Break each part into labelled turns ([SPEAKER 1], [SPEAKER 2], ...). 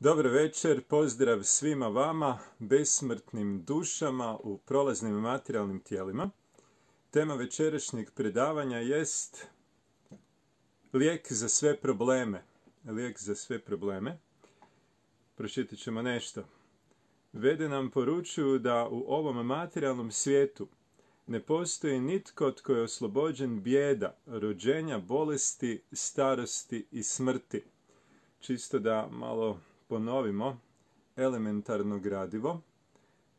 [SPEAKER 1] Dobro večer, pozdrav svima vama, besmrtnim dušama u prolaznim materijalnim tijelima. Tema večerašnjeg predavanja jest lijek za sve probleme. Lijek za sve probleme. Pročitat ćemo nešto. Vede nam poručuju da u ovom materijalnom svijetu ne postoji nitko tko je oslobođen bijeda, rođenja, bolesti, starosti i smrti. Čisto da malo ponovimo elementarno gradivo.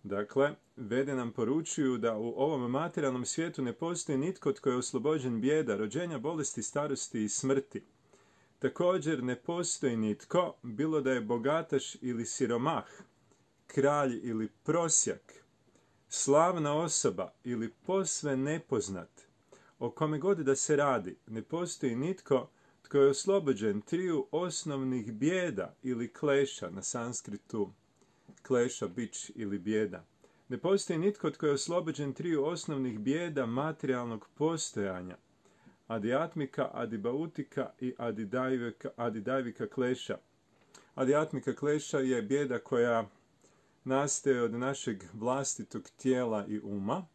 [SPEAKER 1] Dakle, Vede nam poručuju da u ovom materijalnom svijetu ne postoji nitko tko je oslobođen bijeda, rođenja, bolesti, starosti i smrti. Također ne postoji nitko, bilo da je bogataš ili siromah, kralj ili prosjak, slavna osoba ili posve nepoznat, o kome god da se radi, ne postoji nitko tko je oslobođen triju osnovnih bijeda ili kleša, na sanskritu kleša, bič ili bijeda. Ne postoji nitko tko je oslobođen triju osnovnih bijeda materijalnog postojanja, adijatmika, adibautika i adidajvika kleša. Adijatmika kleša je bijeda koja nastaje od našeg vlastitog tijela i uma.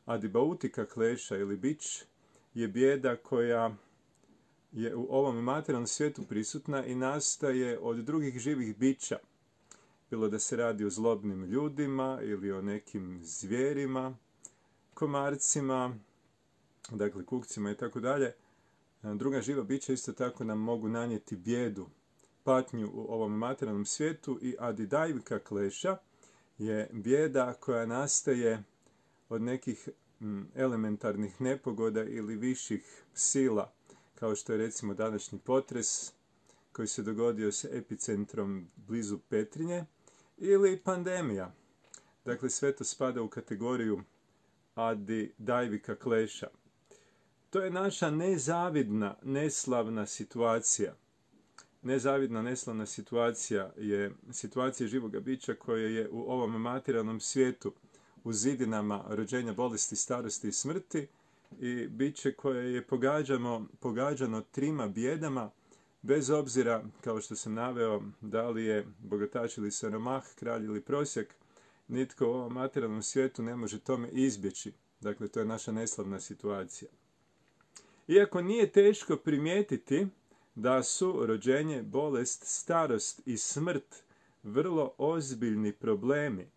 [SPEAKER 1] Adibautika kleša ili bič je bijeda koja je u ovom materijalnom svijetu prisutna i nastaje od drugih živih bića. Bilo da se radi o zlobnim ljudima ili o nekim zvijerima, komarcima, dakle kukcima i tako dalje. Druga živa bića isto tako nam mogu nanijeti bijedu, patnju u ovom materijalnom svijetu i adidajvika kleša je bijeda koja nastaje od nekih elementarnih nepogoda ili viših sila, kao što je recimo današnji potres koji se dogodio s epicentrom blizu Petrinje ili pandemija. Dakle, sve to spada u kategoriju adidajvika kleša. To je naša nezavidna, neslavna situacija. Nezavidna, neslavna situacija je situacija živoga bića koje je u ovom materijalnom svijetu u zidinama rođenja, bolesti, starosti i smrti i biće koje je pogađano trima bijedama, bez obzira, kao što sam naveo, da li je bogataš ili siromah, kralj ili prosjak, nitko u ovom materijalnom svijetu ne može tome izbjeći. Dakle, to je naša neslavna situacija. Iako nije teško primijetiti da su rođenje, bolest, starost i smrt vrlo ozbiljni problemi,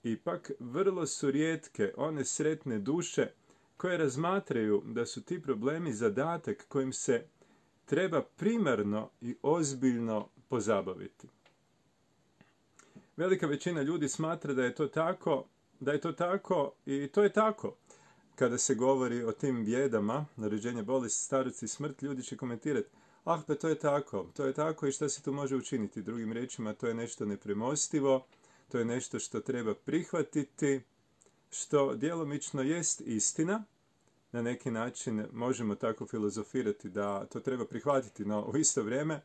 [SPEAKER 1] ipak vrlo su rijetke one sretne duše koje razmatraju da su ti problemi zadatak kojim se treba primarno i ozbiljno pozabaviti. Velika većina ljudi smatra da je to tako i to je tako. Kada se govori o tim bijedama, rođenje, bolest, starost i smrt, ljudi će komentirati: pa to je tako i šta se tu može učiniti? Drugim riječima, to je nešto nepremostivo, to je nešto što treba prihvatiti, što djelomično jest istina. Na neki način možemo tako filozofirati da to treba prihvatiti, no u isto vrijeme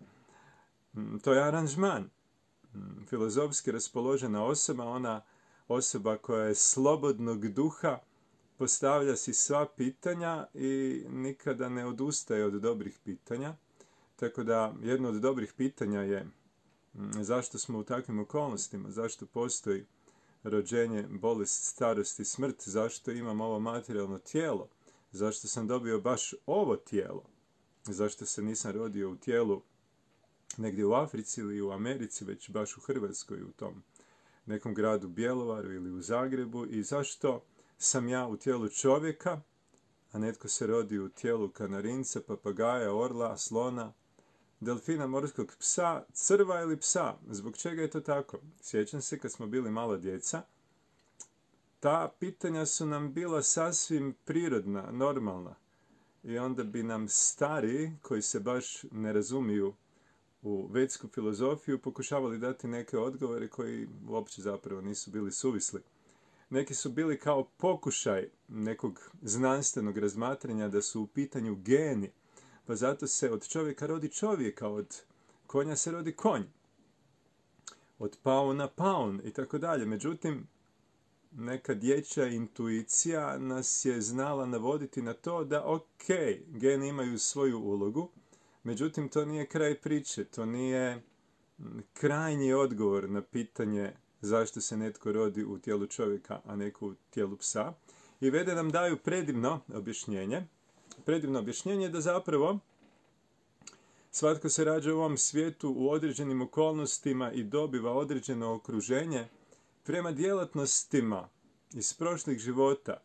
[SPEAKER 1] to je aranžman. Filozofski raspoložena osoba, ona osoba koja je slobodnog duha, postavlja si sva pitanja i nikada ne odustaje od dobrih pitanja. Tako da jedno od dobrih pitanja je zašto smo u takvim okolnostima, zašto postoji rođenje, bolest, starost i smrt, zašto imam ovo materijalno tijelo, zašto sam dobio baš ovo tijelo, zašto se nisam rodio u tijelu negdje u Africi ili u Americi, već baš u Hrvatskoj, u tom nekom gradu Bjelovaru ili u Zagrebu, i zašto sam ja u tijelu čovjeka, a netko se rodi u tijelu kanarinca, papagaja, orla, slona, delfina, morskog psa, crva ili psa. Zbog čega je to tako? Sjećam se kad smo bili mala djeca, ta pitanja su nam bila sasvim prirodna, normalna. I onda bi nam stariji, koji se baš ne razumiju u vedsku filozofiju, pokušavali dati neke odgovore koji uopće zapravo nisu bili suvisli. Neki su bili kao pokušaj nekog znanstvenog razmatranja da su u pitanju geni, pa zato se od čovjeka rodi čovjeka, od konja se rodi konj, od pauna paun i tako dalje. Međutim, neka dječja intuicija nas je znala navoditi na to da geni imaju svoju ulogu, međutim to nije kraj priče, to nije krajnji odgovor na pitanje zašto se netko rodi u tijelu čovjeka, a neko u tijelu psa. I Vede nam daju predivno objašnjenje da zapravo svatko se rađa u ovom svijetu u određenim okolnostima i dobiva određeno okruženje prema djelatnostima iz prošlih života.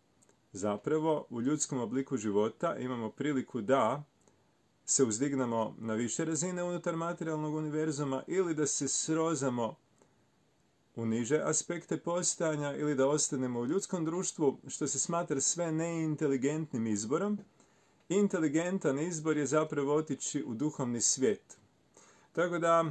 [SPEAKER 1] Zapravo, u ljudskom obliku života imamo priliku da se uzdignemo na više razine unutar materijalnog univerzuma ili da se srozamo u niže aspekte postojanja ili da ostanemo u ljudskom društvu, što se smatra sve neinteligentnim izborom. Inteligentan izbor je zapravo otići u duhovni svijet. Tako da,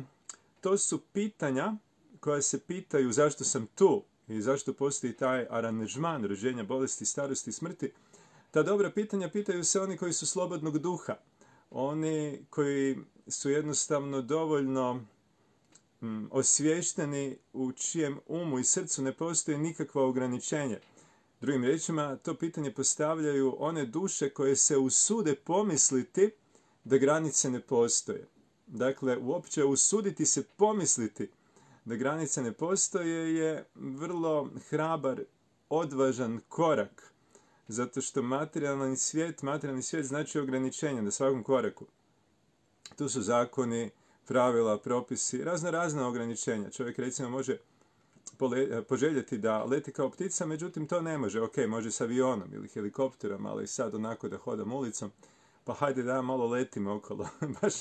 [SPEAKER 1] to su pitanja koja se pitaju zašto sam tu i zašto postoji taj aranžman rođenja, bolesti, starosti i smrti. Ta dobra pitanja pitaju se oni koji su slobodnog duha. Oni koji su jednostavno dovoljno osviješteni, u čijem umu i srcu ne postoji nikakvo ograničenje. Drugim riječima, to pitanje postavljaju one duše koje se usude pomisliti da granice ne postoje. Dakle, uopće usuditi se pomisliti da granice ne postoje je vrlo hrabar, odvažan korak. Zato što materijalni svijet znači ograničenje na svakom koraku. Tu su zakoni, pravila, propisi, razna ograničenja. Čovjek recimo može poželjeti da leti kao ptica, međutim to ne može. Ok, može s avionom ili helikopterom, ali sad onako da hodam ulicom, pa hajde da malo letim okolo. Baš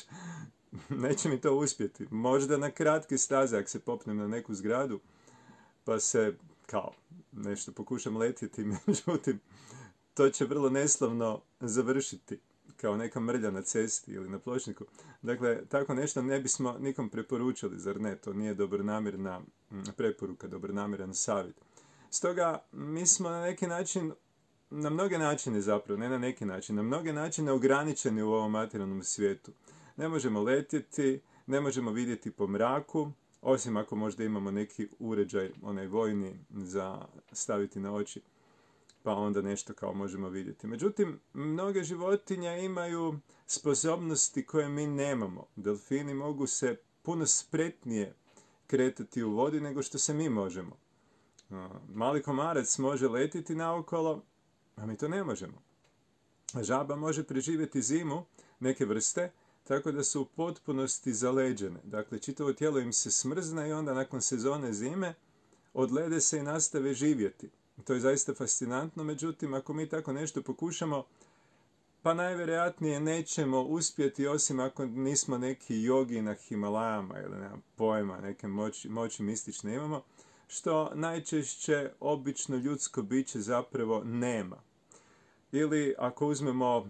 [SPEAKER 1] neće mi to uspjeti. Možda na kratke staze, ako se popnem na neku zgradu, pa se kao nešto pokušam letjeti, međutim to će vrlo neslavno završiti kao neka mrlja na cesti ili na pločniku. Dakle, tako nešto ne bismo nikom preporučili, zar ne? To nije dobronamjerna preporuka, dobronamjeran savjet. Stoga, mi smo na neki način, na mnoge načine zapravo, ne na neki način, na mnoge načine ograničeni u ovom materijalnom svijetu. Ne možemo letjeti, ne možemo vidjeti po mraku, osim ako možda imamo neki uređaj, onaj vojni, za staviti na oči, pa onda nešto kao možemo vidjeti. Međutim, mnoge životinje imaju sposobnosti koje mi nemamo. Delfini mogu se puno spretnije kretati u vodi nego što se mi možemo. Mali komarac može letiti naokolo, a mi to ne možemo. Žaba može preživjeti zimu, neke vrste, tako da su u potpunosti zaleđene. Dakle, čitavo tijelo im se smrzne i onda nakon sezone zime odlede se i nastave živjeti. To je zaista fascinantno, međutim, ako mi tako nešto pokušamo, pa najvjerojatnije nećemo uspjeti, osim ako nismo neki jogi na Himalajama ili nema pojma, neke moći mistične imamo, što najčešće obično ljudsko biće zapravo nema. Ili ako uzmemo,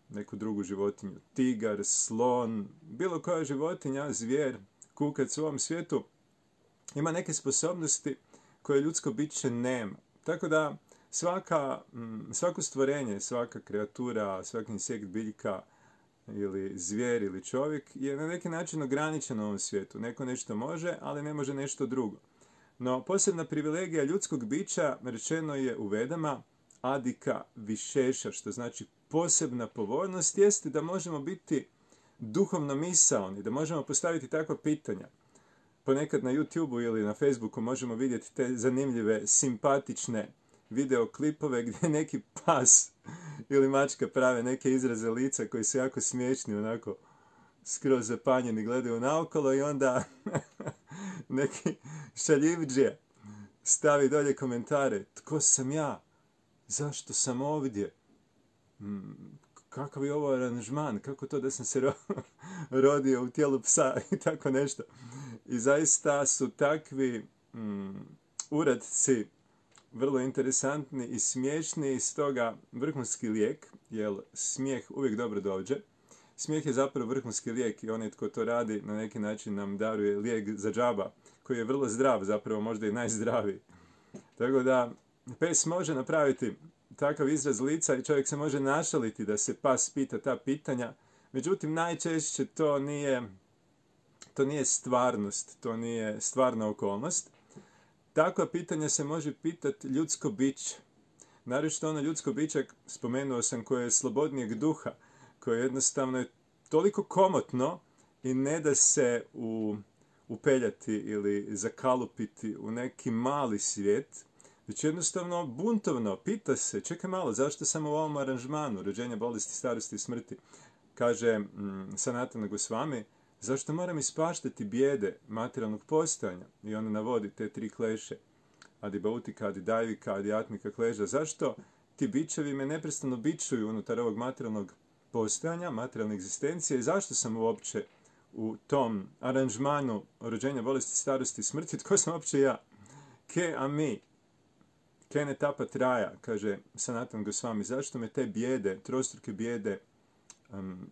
[SPEAKER 1] neku drugu životinju, tigar, slon, bilo koja životinja, zvijer, kukac u ovom svijetu, ima neke sposobnosti koje ljudsko biće nema. Tako da svako stvorenje, svaka kreatura, svaki insekt, biljka ili zvijer ili čovjek je na neki način ograničen u ovom svijetu. Neko nešto može, ali ne može nešto drugo. No, posebna privilegija ljudskog bića, rečeno je u Vedama, adika višeša, što znači posebna povoljnost, jeste da možemo biti duhovno misaoni, da možemo postaviti takva pitanja. Ponekad na YouTubeu ili na Facebooku možemo vidjeti te zanimljive, simpatične videoklipove gdje neki pas ili mačka prave neke izraze lica koji su jako smiješni, onako skroz zapanjeni, gledaju naokolo i onda neki šaljivdžija stavi dolje komentare. Tko sam ja? Zašto sam ovdje? Kakav je ovo aranžman? Kako to da sam se rodio u tijelu psa i tako nešto. I zaista su takvi uradci vrlo interesantni i smiješni, i stoga vrhunski lijek, jer smijeh uvijek dobro dođe. Smijeh je zapravo vrhunski lijek i onaj tko to radi na neki način nam daruje lijek za džaba, koji je vrlo zdrav, zapravo možda i najzdraviji. Tako da pes može napraviti takav izraz lica i čovjek se može našaliti da se pas pita ta pitanja, međutim najčešće to nije stvarnost, to nije stvarna okolnost. Takva pitanja se može pitati ljudsko biće. Naročito ono ljudsko biće, spomenuo sam, koje je slobodnijeg duha, koje jednostavno je toliko komotno i ne da se u upeljati ili zakalupiti u neki mali svijet, već jednostavno buntovno pita se, čekaj malo, zašto sam u ovom aranžmanu rođenja, bolesti, starosti i smrti? Kaže Sanatana Gosvami, zašto moram ispaštati bijede materijalnog postojanja? I on navodi te 3 kleše. Adi Bautika, Adi Dajvika, Adi Atmika kleža. Zašto ti bićevi me neprestano bičuju unutar ovog materijalnog postojanja, materijalne egzistencije i zašto sam uopće u tom aranžmanu rođenja, bolesti, starosti i smrti? Tko sam uopće ja? Ke a mi? Ke ne tapa traja, kaže Sanatan Gosvami. Zašto me te bijede, trostruke bijede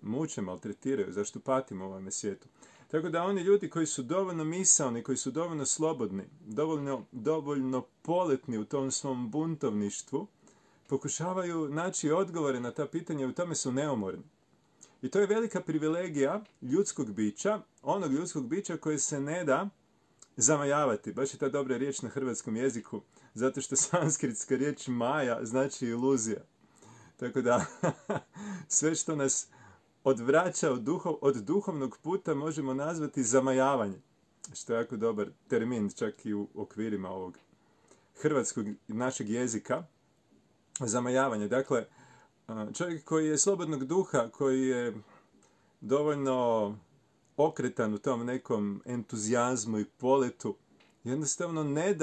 [SPEAKER 1] muče, maltretiraju? Zašto patim u ovome svijetu? Tako da oni ljudi koji su dovoljno misaoni, koji su dovoljno slobodni, dovoljno poletni u tom svom buntovništvu, pokušavaju naći odgovore na ta pitanja i u tome su neumorni. I to je velika privilegija ljudskog bića, onog ljudskog bića koje se ne da zamajavati. Baš je ta dobra riječ na hrvatskom jeziku, zato što sanskritska riječ maja znači iluzija. Tako da sve što nas odvraća od duhovnog puta možemo nazvati zamajavanje, što je jako dobar termin čak i u okvirima ovog hrvatskog našeg jezika. Zamajavanje. Dakle, čovjek koji je slobodnog duha, koji je dovoljno okretan u tom nekom entuzijazmu i poletu, jednostavno ne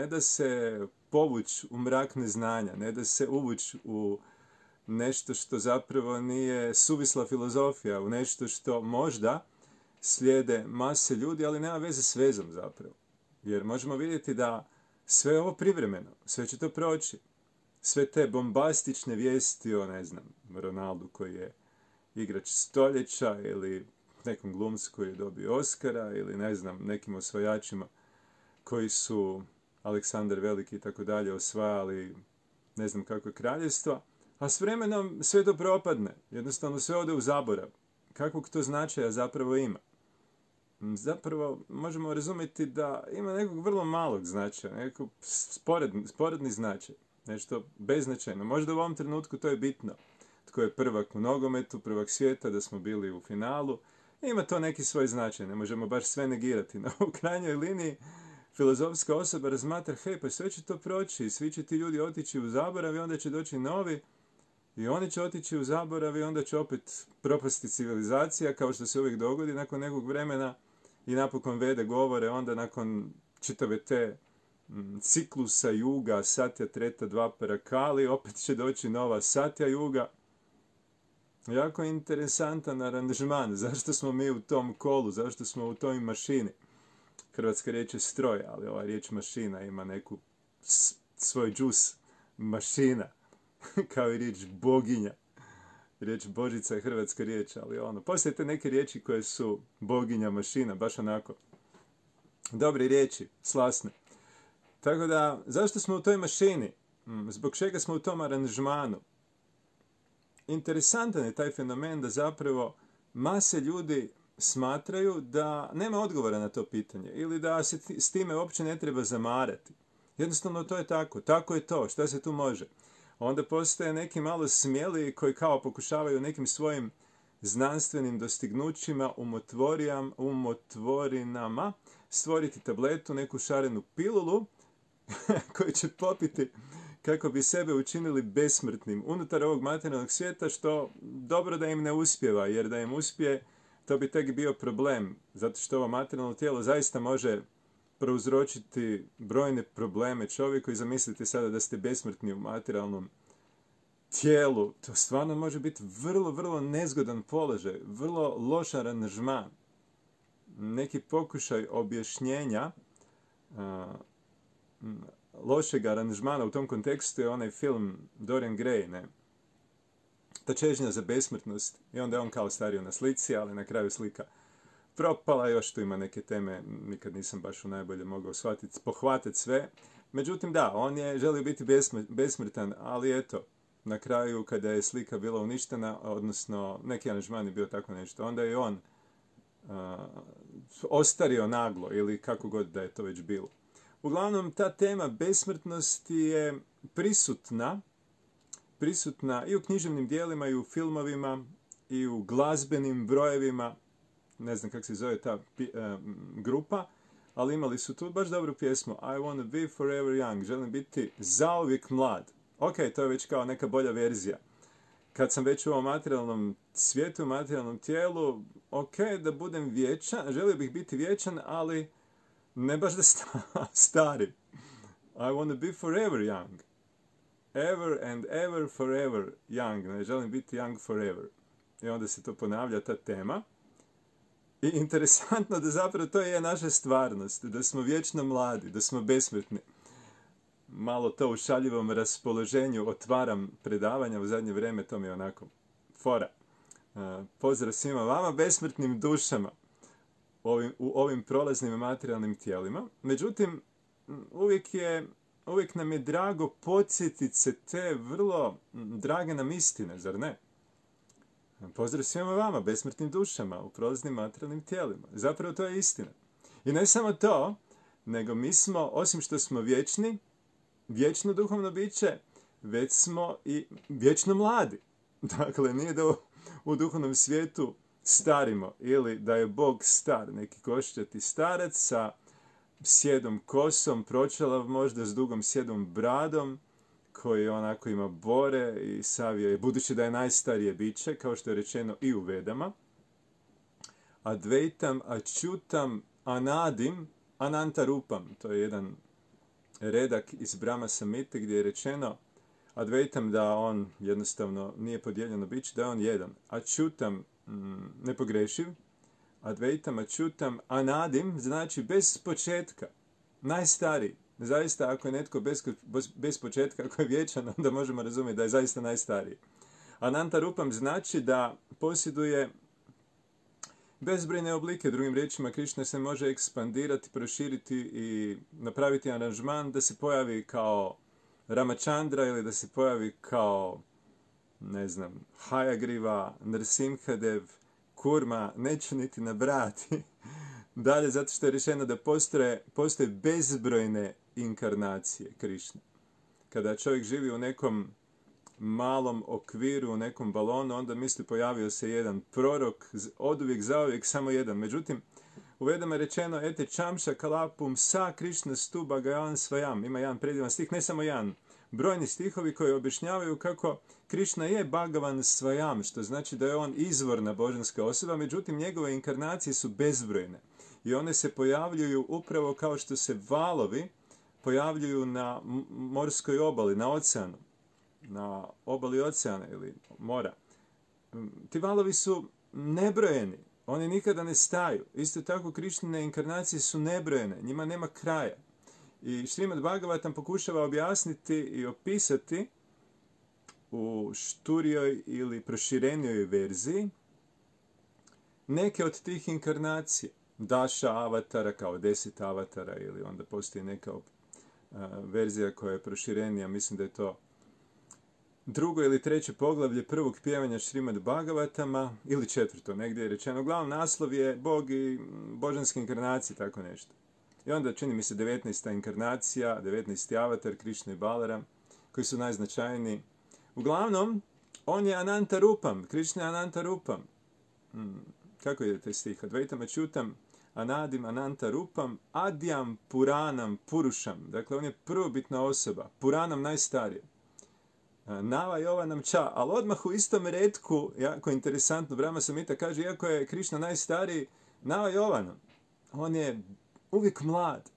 [SPEAKER 1] da se povući u mrak neznanja, ne da se uvući u nešto što zapravo nije suvisla filozofija, u nešto što možda slijede mase ljudi, ali nema veze s vezom zapravo. Jer možemo vidjeti da sve ovo privremeno, sve će to proći. Sve te bombastične vijesti o, ne znam, Ronaldu koji je igrač stoljeća ili nekom glumcu koji je dobio Oscara ili, ne znam, nekim osvajačima koji su Aleksandar Veliki i tako dalje osvajali ne znam kakve kraljevstva, a s vremenom sve to propadne. Jednostavno sve ode u zaborav. Kakvog to značaja zapravo ima? Zapravo možemo razumjeti da ima nekog vrlo malog značaja, nekog sporedni značaj. Nešto beznačajno. Možda u ovom trenutku to je bitno. Tko je prvak u nogometu, prvak svijeta, da smo bili u finalu. Ima to neki svoj značaj, ne možemo baš sve negirati. No, u krajnjoj liniji filozofska osoba razmatra, hej, pa sve će to proći, svi će ti ljudi otići u zaborav i onda će doći novi i oni će otići u zaborav i onda će opet propasti civilizacija, kao što se uvijek dogodi nakon nekog vremena i napokon vede govore, onda nakon čitave te ciklusa juga, satja, treta, dvapara, kali, opet će doći nova satja juga. Jako interesantan aranžman. Zašto smo mi u tom kolu? Zašto smo u toj mašini? Hrvatska riječ je stroj, ali ova riječ mašina ima neku svoj džus. Mašina. Kao i riječ boginja. Riječ Božica je hrvatska riječ, ali postoje te neke riječi koje su boginja, mašina, baš onako. Dobre riječi, slasne. Tako da, zašto smo u toj mašini? Zbog čega smo u tom aranžmanu? Interesantan je taj fenomen da zapravo mase ljudi smatraju da nema odgovora na to pitanje ili da se s time uopće ne treba zamarati. Jednostavno to je tako. Tako je to. Šta se tu može? Onda postoje neki malo smjeli koji kao pokušavaju nekim svojim znanstvenim dostignućima, umotvorinama stvoriti tabletu, neku šarenu pilulu koju će popiti kako bi sebe učinili besmrtnim unutar ovog materijalnog svijeta, što dobro da im ne uspijeva, jer da im uspije, to bi tek bio problem, zato što ovo materijalno tijelo zaista može prouzročiti brojne probleme čovjeku i zamislite sada da ste besmrtni u materijalnom tijelu. To stvarno može biti vrlo, vrlo nezgodan položaj, vrlo loš aranžman. Neki pokušaj objašnjenja lošeg aranžmana u tom kontekstu je onaj film Dorian Gray, ne? Ta čežnja za besmrtnost. I onda je on kao stario na slici, ali na kraju slika propala. Još tu ima neke teme, nikad nisam baš u najbolje mogao pohvatiti sve. Međutim, da, on je želio biti besmrtan, ali eto, na kraju kada je slika bila uništena, odnosno neki aranžman je bio tako nešto, onda je on ostario naglo ili kako god da je to već bilo. Uglavnom, ta tema besmrtnosti je prisutna i u književnim dijelima, i u filmovima, i u glazbenim brojevima. ne znam kako se zove ta grupa, ali imali su tu baš dobru pjesmu I wanna be forever young, želim biti zauvijek mlad. Ok, to je već kao neka bolja verzija. Kad sam već u ovom materijalnom svijetu, materijalnom tijelu, ok, da budem vječan, želio bih biti vječan, ali ne baš da stari. I wanna be forever young. Ever and ever forever young. Ne želim biti young forever. I onda se to ponavlja, ta tema. I interesantno da zapravo to je naša stvarnost. Da smo vječno mladi, da smo besmrtni. Malo to u šaljivom raspoloženju otvaram predavanja u zadnje vrijeme, to mi je onako fora. Pozdrav svima vama, besmrtnim dušama u ovim prolaznim materijalnim tijelima. Međutim, uvijek nam je drago podsjetiti se te vrlo drage nam istine, zar ne? Pozdrav svima vama, besmrtnim dušama u prolaznim materijalnim tijelima. Zapravo to je istina. I ne samo to, nego mi smo, osim što smo vječni, vječno duhovno biće, već smo i vječno mladi. Dakle, nije da u duhovnom svijetu starimo ili da je Bog star, neki koščati starac sa sjedom kosom, pročelav možda s dugom sjedom bradom, koji onako ima bore i savije, budući da je najstarije biće, kao što je rečeno i u Vedama. Advaitam, Achyutam, Anadim, Anantarupam. To je jedan redak iz Brahma Samhite gdje je rečeno Advaitam da on jednostavno nije podijeljeno biće, da je on jedan. Achyutam, nepogrešiv. Advaitam, Achyutam, Anadim, znači bez početka, najstariji. Zaista, ako je netko bez početka, ako je vječan, onda možemo razumjeti da je zaista najstariji. Anantarupam znači da posjeduje bezbrojne oblike. Drugim riječima, Krišna se može ekspandirati, proširiti i napraviti aranžman da se pojavi kao Ramachandra ili da se pojavi kao, ne znam, Hayagriva, Nrsimhadev, Kurma, neću niti nabrati. Dalje, zato što je rečeno da postoje bezbrojne inkarnacije Krišne. Kada čovjek živi u nekom malom okviru, u nekom balonu, onda misli pojavio se jedan prorok, oduvijek, zauvijek, samo jedan. Međutim, u Vedama je rečeno ete čamša kalapum sa Krišna stu bhagavan svajam. Ima jedan predivan stih, ne samo jedan. Brojni stihovi koji objašnjavaju kako Krišna je Bhagavan svajam, što znači da je on izvorna božanska osoba, međutim njegove inkarnacije su bezbrojne. I one se pojavljuju upravo kao što se valovi pojavljuju na morskoj obali, na oceanu, na obali oceana ili mora. Ti valovi su nebrojeni, oni nikada ne staju. Isto tako Krišnine inkarnacije su nebrojene, njima nema kraja. I Šrimad Bhagavatam pokušava objasniti i opisati u šturijoj ili proširenijoj verziji neke od tih inkarnacija. Daša avatara kao 10 avatara ili onda postoji neka verzija koja je proširenija, mislim da je to drugo ili treće poglavlje prvog pjevanja Šrimad Bhagavatama ili četvrto, negdje je rečeno. Uglavnom naslov je Bog i božanske inkarnacije, tako nešto. I onda čini mi se 19. inkarnacija, 19. avatar Krišna i Balaram, koji su najznačajniji. Uglavnom, on je Anantarupam, Krišna je Anantarupam. Kako je taj stih? Advaitam Achyutam, Anadim Anantarupam, Adyam Puranam Purušam. Dakle, on je prvobitna osoba, Puranam najstarije. Nava Jovanam Ča, ali odmah u istom retku, jako interesantno, Brahma Samhita kaže, iako je Krišna najstariji, Nava Jovanam, on je uvijek mlad.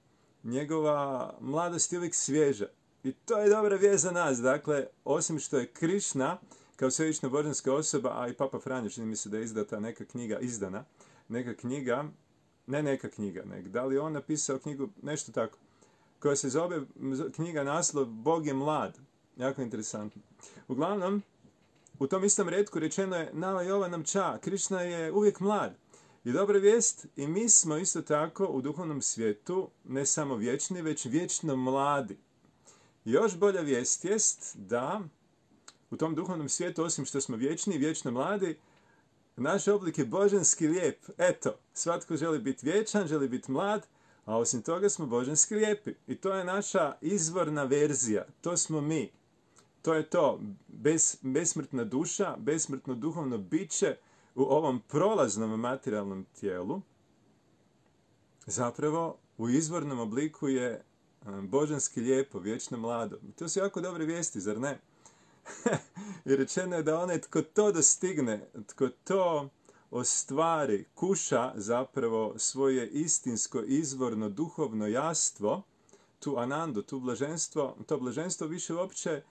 [SPEAKER 1] Njegova mladost je uvijek svježa. I to je dobra vijest za nas. Dakle, osim što je Krišna, kao svevična božanska osoba, a i Papa Franjo, čini mi se da je izdata neka knjiga, da li je on napisao knjigu, nešto tako, koja se zove knjiga naslov Bog je mlad. Jako interesantno. Uglavnom, u tom istom retku rečeno je Nava Jovanam Ča, Krišna je uvijek mlad. I dobra vijest, i mi smo isto tako u duhovnom svijetu ne samo vječni, već vječno mladi. Još bolja vijest jest da u tom duhovnom svijetu, osim što smo vječni i vječno mladi, naš oblik je božanski lijep. Eto, svatko želi biti vječan, želi biti mlad, a osim toga smo božanski lijepi. I to je naša izvorna verzija. To smo mi. To je to. Besmrtna duša, besmrtno duhovno biće u ovom prolaznom materijalnom tijelu, zapravo u izvornom obliku je božanski lijepo, vječno mlado. To su jako dobre vijesti, zar ne? I rečeno je da onaj tko to dostigne, tko to ostvari, kuša zapravo svoje istinsko, izvorno, duhovno jastvo, tu anandu, to blaženstvo više uopće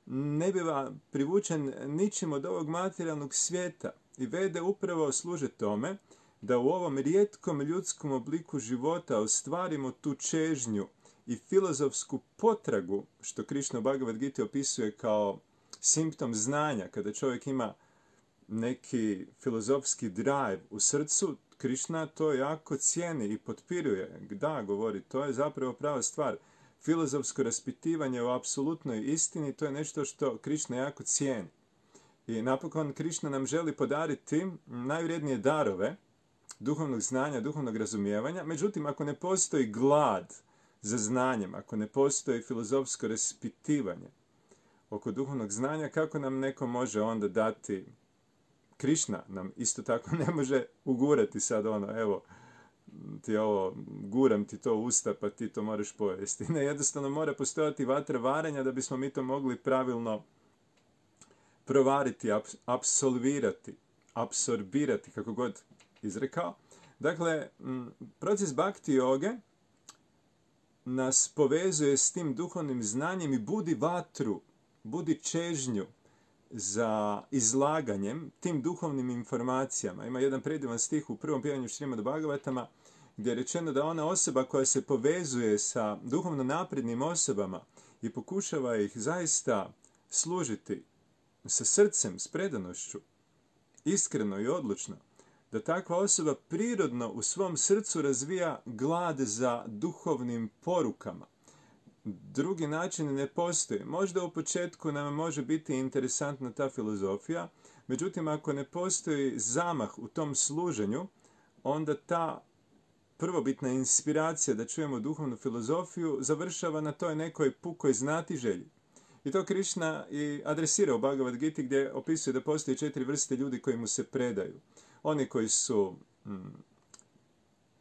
[SPEAKER 1] ne biva privučen ničim od ovog materijalnog svijeta. I Vede upravo služe tome da u ovom rijetkom ljudskom obliku života ostvarimo tu čežnju i filozofsku potragu, što Krišna u Bhagavad Gita opisuje kao simptom znanja. Kada čovjek ima neki filozofski drive u srcu, Krišna to jako cijeni i potpiruje. Da, govori, to je zapravo prava stvar. Filozofsko raspitivanje o apsolutnoj istini, to je nešto što Krišna jako cijeni. I napokon Krišna nam želi podariti najvrijednije darove duhovnog znanja, duhovnog razumijevanja. Međutim, ako ne postoji glad za znanjem, ako ne postoji filozofsko raspitivanje oko duhovnog znanja, kako nam neko može onda dati? Krišna nam isto tako ne može ugurati sad evo, ti ovo, guram ti to u usta pa ti to moraš pojesti. Ne, jednostavno mora postojati vatra varenja da bismo mi to mogli pravilno provariti, apsolvirati, apsorbirati, kako god izrekao. Dakle, proces bhakti joge nas povezuje s tim duhovnim znanjem i budi vatru, budi čežnju za izlaganjem tim duhovnim informacijama. Ima jedan predivan stih u prvom pitanju Šrimad Bhagavatama gdje je rečeno da ona osoba koja se povezuje sa duhovno naprednim osobama i pokušava ih zaista služiti sa srcem, s predanošću, iskreno i odlučno, da takva osoba prirodno u svom srcu razvija glad za duhovnim porukama. Drugi način ne postoji. Možda u početku nam može biti interesantna ta filozofija, međutim ako ne postoji zamah u tom služenju, onda ta prvobitna inspiracija da čujemo duhovnu filozofiju završava na toj nekoj pukoj znatiželji. I to Krišna i adresira u Bhagavad Giti gdje opisuje da postoje 4 vrste ljudi koji mu se predaju. Oni koji su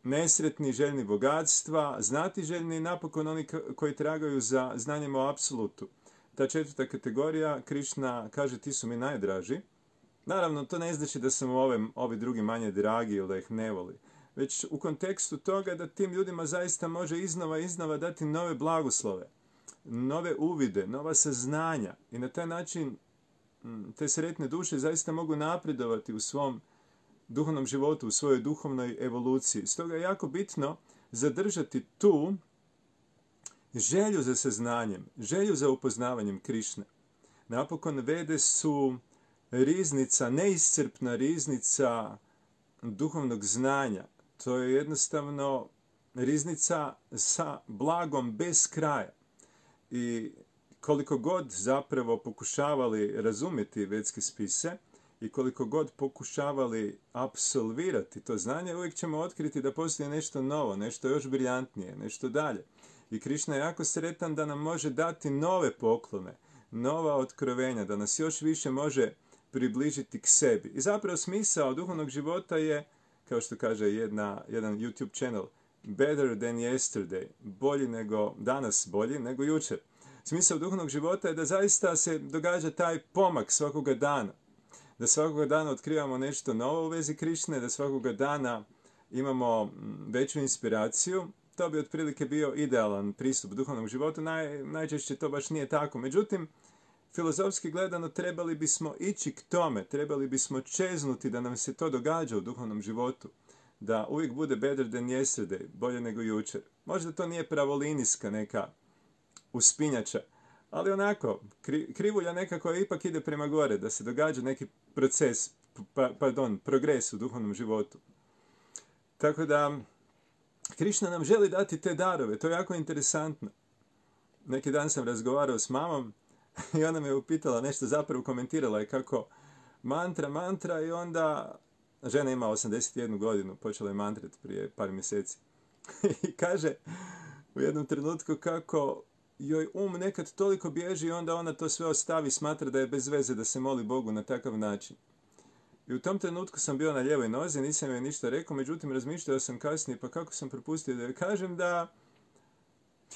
[SPEAKER 1] nesretni, željni bogatstva, znatiželjni i napokon oni koji tragaju za znanjem o apsolutu. Ta 4. kategorija, Krišna kaže, ti su mi najdraži. Naravno, to ne znači da sam ovi drugi manje dragi ili da ih ne voli. Već u kontekstu toga da tim ljudima zaista može iznova dati nove blagoslove, nove uvide, nova saznanja. I na taj način te sretne duše zaista mogu napredovati u svom duhovnom životu, u svojoj duhovnoj evoluciji. Stoga je jako bitno zadržati tu želju za saznanjem, želju za upoznavanjem Krišne. Napokon Vede su riznica, neiscrpna riznica duhovnog znanja. To je jednostavno riznica sa blagom bez kraja. I koliko god zapravo pokušavali razumjeti vedske spise i koliko god pokušavali apsolvirati to znanje, uvijek ćemo otkriti da postoji nešto novo, nešto još briljantnije, nešto dalje. I Krišna je jako sretan da nam može dati nove poklone, nova otkrovenja, da nas još više može približiti k sebi. I zapravo smisao duhovnog života je, kao što kaže jedan YouTube channel, better than yesterday, bolji nego danas, bolji nego jučer. Smisao duhovnog života je da zaista se događa taj pomak svakoga dana. Da svakoga dana otkrivamo nešto novo u vezi Krišne, da svakoga dana imamo veću inspiraciju. To bi otprilike bio idealan pristup duhovnom životu. Najčešće to baš nije tako. Međutim, filozofski gledano trebali bismo ići k tome, trebali bismo čeznuti da nam se to događa u duhovnom životu. Da uvijek bude better than yesterday, bolje nego jučer. Možda to nije pravolinijska neka uspinjača, ali onako, krivulja neka koja ipak ide prema gore, da se događa neki proces, progres u duhovnom životu. Tako da, Krišna nam želi dati te darove, to je jako interesantno. Neki dan sam razgovarao s mamom i ona me upitala nešto, zapravo komentirala je kako mantra i onda žena ima 81 godinu, počela je mantrat prije par mjeseci. I kaže u jednom trenutku kako joj nekad toliko bježi i onda ona to sve ostavi, smatra da je bez veze da se moli Bogu na takav način. I u tom trenutku sam bio na lijevoj nozi, nisam joj ništa rekao, međutim razmišljao sam kasnije, pa kako sam propustio da joj kažem da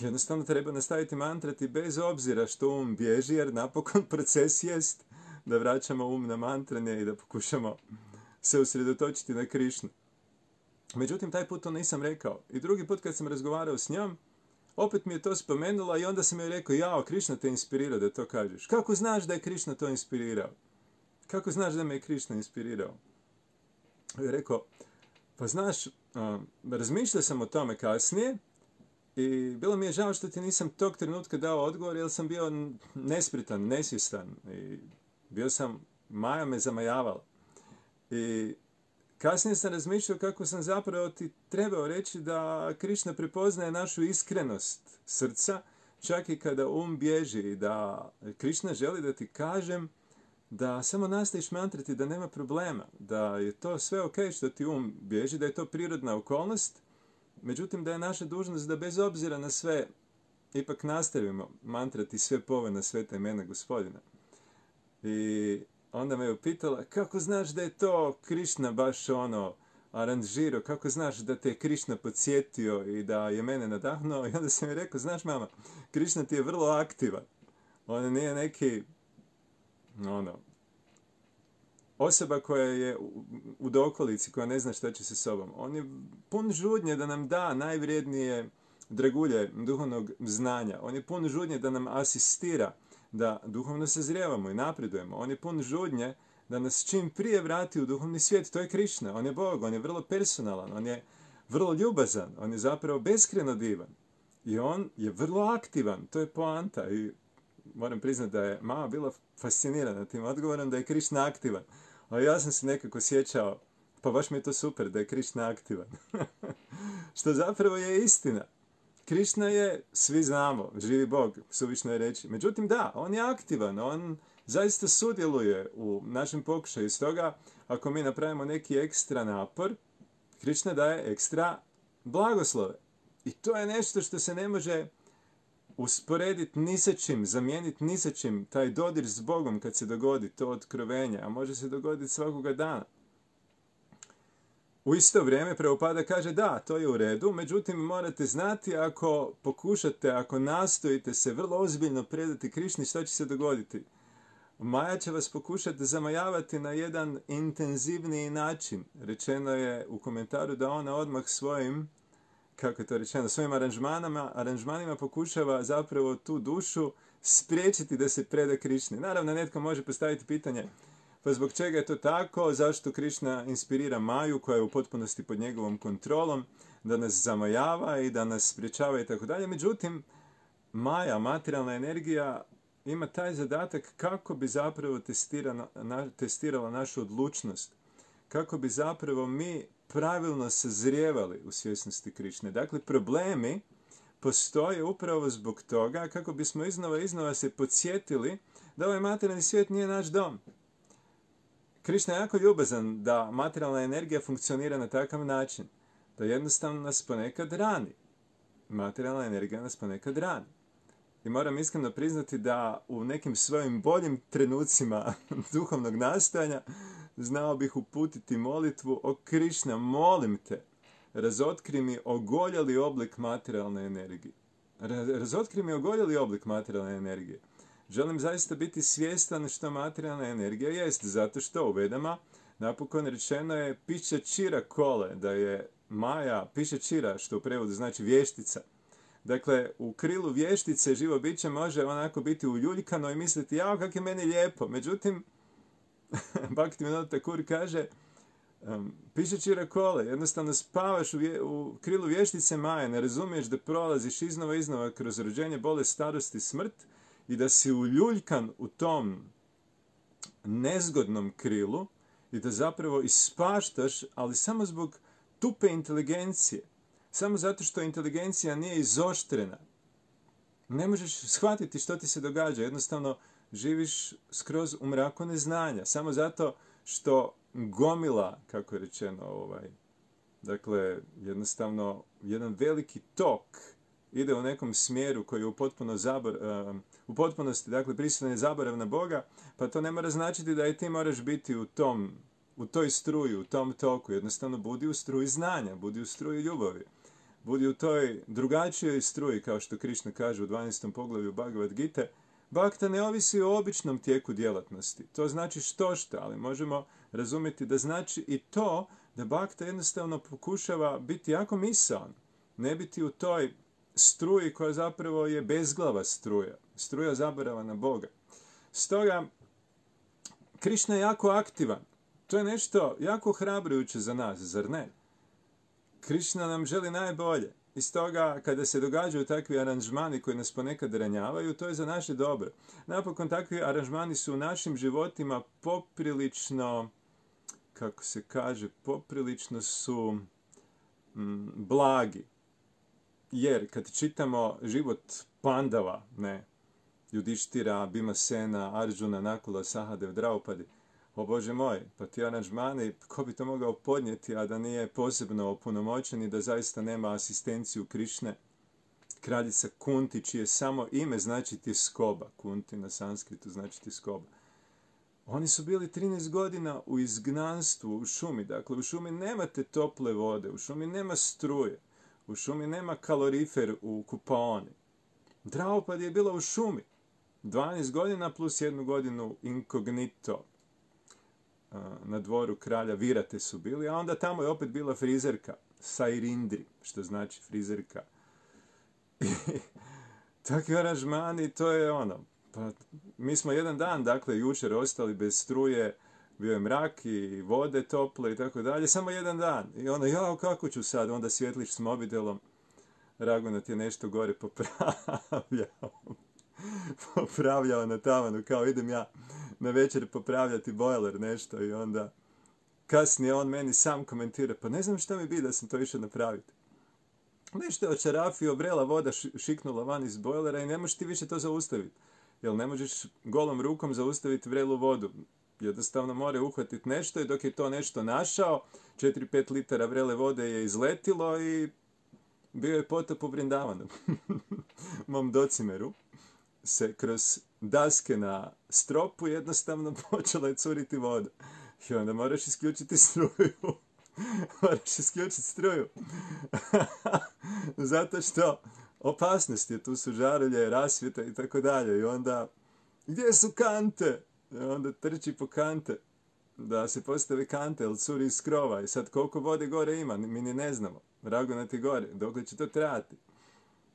[SPEAKER 1] jednostavno treba nastaviti mantrati bez obzira što um bježi, jer napokon proces jest da vraćamo um na mantranje i da pokušamo se usredotočiti na Krišnu. Međutim, taj put to nisam rekao. I drugi put kad sam razgovarao s njom, opet mi je to spomenula i onda sam joj rekao, jao, Krišna te inspirirao da to kažeš. Kako znaš da je Krišna to inspirirao? Kako znaš da me je Krišna inspirirao? I rekao, pa znaš, razmišljao sam o tome kasnije i bilo mi je žao što ti nisam tog trenutka dao odgovor, jer sam bio nespretan, nesvjestan i bio sam, Maja me zamajavala. I kasnije sam razmišljao kako sam zapravo ti trebao reći da Krišna prepoznaje našu iskrenost srca, čak i kada um bježi, i da Krišna želi da ti kažem da samo nastaviš mantrati, da nema problema, da je to sve ok što ti um bježi, da je to prirodna okolnost, međutim da je naša dužnost da bez obzira na sve ipak nastavimo mantrati sve povoljna sveta imena Gospodina. I onda me je upitala, kako znaš da je to Krišna baš aranžirao, kako znaš da te je Krišna podsjetio i da je mene nadahnuo? I onda sam mi rekao, znaš mama, Krišna ti je vrlo aktivan. On nije neki, osoba koja je u dokolici, koja ne zna šta će sa sobom. On je pun žudnje da nam da najvrijednije dragulje duhovnog znanja. On je pun žudnje da nam asistira, da duhovno sazrijevamo i napredujemo. On je pun žudnje da nas čim prije vrati u duhovni svijet. To je Krišna. On je Bog, on je vrlo personalan, on je vrlo ljubazan, on je zapravo beskreno divan. I on je vrlo aktivan, to je poanta. I moram priznati da je mama bila fascinirana tim odgovorom da je Krišna aktivan. A ja sam se nekako sjećao, pa baš mi je to super da je Krišna aktivan. Što zapravo je istina. Krišna je, svi znamo, živi Bog, suvišno je reći. Međutim, da, on je aktivan, on zaista sudjeluje u našem pokušaju. Stoga, ako mi napravimo neki ekstra napor, Krišna daje ekstra blagoslove. I to je nešto što se ne može usporediti ni sa čim, zamijeniti ni sa čim. Taj dodir s Bogom kad se dogodi to otkrovenje, a može se dogoditi svakoga dana. U isto vrijeme Prabhupada kaže da, to je u redu, međutim morate znati ako pokušate, ako nastojite se vrlo ozbiljno predati Krišni, što će se dogoditi? Maja će vas pokušati zamajavati na jedan intenzivniji način. Rečeno je u komentaru da ona odmah svojim, kako je to rečeno, svojim aranžmanima pokušava zapravo tu dušu spriječiti da se preda Krišni. Naravno, netko može postaviti pitanje, pa zbog čega je to tako, zašto Krišna inspirira Maju, koja je u potpunosti pod njegovom kontrolom, da nas zamajava i da nas spriječava i tako dalje. Međutim, Maja, materijalna energija, ima taj zadatak kako bi zapravo testirala našu odlučnost, kako bi zapravo mi pravilno sazrijevali u svjesnosti Krišne. Dakle, problemi postoje upravo zbog toga kako bismo iznova se podsjetili da ovaj materijalni svijet nije naš dom. Krišna je jako ljubazan da materijalna energija funkcionira na takav način, da jednostavno nas ponekad rani. Materijalna energija nas ponekad rani. I moram iskreno priznati da u nekim svojim boljim trenucima duhovnog nastojanja znao bih uputiti molitvu: o Krišna, molim te, razotkri mi ogoljeli oblik materijalne energije. Razotkri mi ogoljeli oblik materijalne energije. Želim zaista biti svjestan što materijalna energija jest, zato što u Vedama napokon rečeno je piša čira kole, da je Maja piša čira, što u prevodu znači vještica. Dakle, u krilu vještice živo biće može onako biti uljuljkano i misliti, jao, kak je meni lijepo. Međutim, Bhaktivinoda Thakur kaže, piša čira kole, jednostavno spavaš u krilu vještice Maje, ne razumiješ da prolaziš iznova kroz rođenje, bolest, starost i smrt, i da si uljuljkan u tom nezgodnom krilu i da zapravo ispaštaš, ali samo zbog tupe inteligencije. Samo zato što inteligencija nije izoštrena. Ne možeš shvatiti što ti se događa. Jednostavno živiš skroz u mraku neznanja. Samo zato što gomila, kako je rečeno, dakle, jednostavno jedan veliki tok ide u nekom smjeru koji je u potpunosti, dakle, prisutan je zaborav na Boga, pa to ne mora značiti da i ti moraš biti u toj struji, u tom toku. Jednostavno budi u struji znanja, budi u struji ljubavi. Budi u toj drugačijoj struji, kao što Krišna kaže u 12. poglavlju Bhagavad Gite. Bhakta ne ovisi o običnom tijeku djelatnosti. To znači što, ali možemo razumjeti da znači i to da Bhakta jednostavno pokušava biti jako misaon. Ne biti u toj struji koja zapravo je bezglava struja. Struja zaborava na Boga. Stoga, Krišna je jako aktivan. To je nešto jako hrabrujuće za nas, zar ne? Krišna nam želi najbolje. I stoga, kada se događaju takvi aranžmani koji nas ponekad ranjavaju, to je za naše dobro. Napokon, takvi aranžmani su u našim životima poprilično, kako se kaže, poprilično su blagi. Jer kad čitamo život Pandava, Judištira, Bhimasena, Arjuna, Nakula, Sahadev, Draupadi, o Bože moj, pa ti aranžmani, ko bi to mogao podnijeti, a da nije posebno opunomoćen i da zaista nema asistenciju Krišne, kraljica Kunti, čije samo ime znači tjeskoba. Kunti na sanskritu znači tjeskoba. Oni su bili 13 godina u izgnanstvu, u šumi. Dakle, u šumi nemate tople vode, u šumi nema struje, u šumi nema kalorifer u kupaoni. Draupadi je bila u šumi. 12 godina plus 1 godinu inkognito. Na dvoru kralja Virate su bili, a onda tamo je opet bila frizerka, Sairindri, što znači frizerka. I takvi aranžmani, to je ono. Pa, mi smo jedan dan, dakle, jučer ostali bez struje, bio je mrak i vode tople i tako dalje, samo jedan dan. I onda, jao, kako ću sad? Onda svjetliš s mobitelom, Ragunat je nešto gore popravljao na tavanu, kao idem ja na večer popravljati bojler nešto i onda kasnije on meni sam komentira, pa ne znam šta mi bi da sam to išao napraviti. Nešto je očarafio, vrela voda šiknula van iz bojlera i ne možeš ti više to zaustaviti. Jer ne možeš golom rukom zaustaviti vrelu vodu. Jednostavno mora uhvatiti nešto i dok je to nešto našao, 4-5 litara vrele vode je izletilo i bio je potop u Vrindavanu. Mom docimeru se kroz daske na stropu jednostavno počela je curiti voda. I onda moraš isključiti struju. Moraš isključiti struju. Zato što opasnost je, tu su žarulje, rasvjeta i tako dalje. I onda, gdje su kante? I onda trči po kante da se postave kante, jer curi iz krova. I sad koliko vode gore ima, mi ni ne znamo. Ragunat je gore, dokle će to trajati?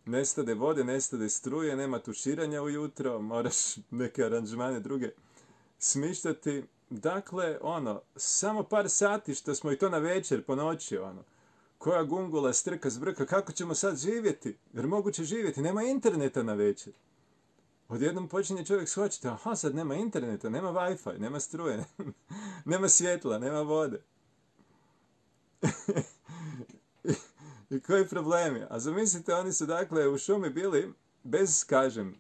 [SPEAKER 1] Nestade vode, nestade struje, nema tuširanja ujutro, moraš neke aranžmane druge smišljati. Dakle, samo par sati što smo i to na večer, po noći, koja gungula, strka, zbrka, kako ćemo sad živjeti? Jer moguće živjeti, nema interneta na večer. Odjednom počinje čovjek shvaćati, aha, sad nema interneta, nema Wi-Fi, nema struje, nema svjetla, nema vode. I koji problemi? A zamislite, oni su dakle u šumi bili bez, kažem,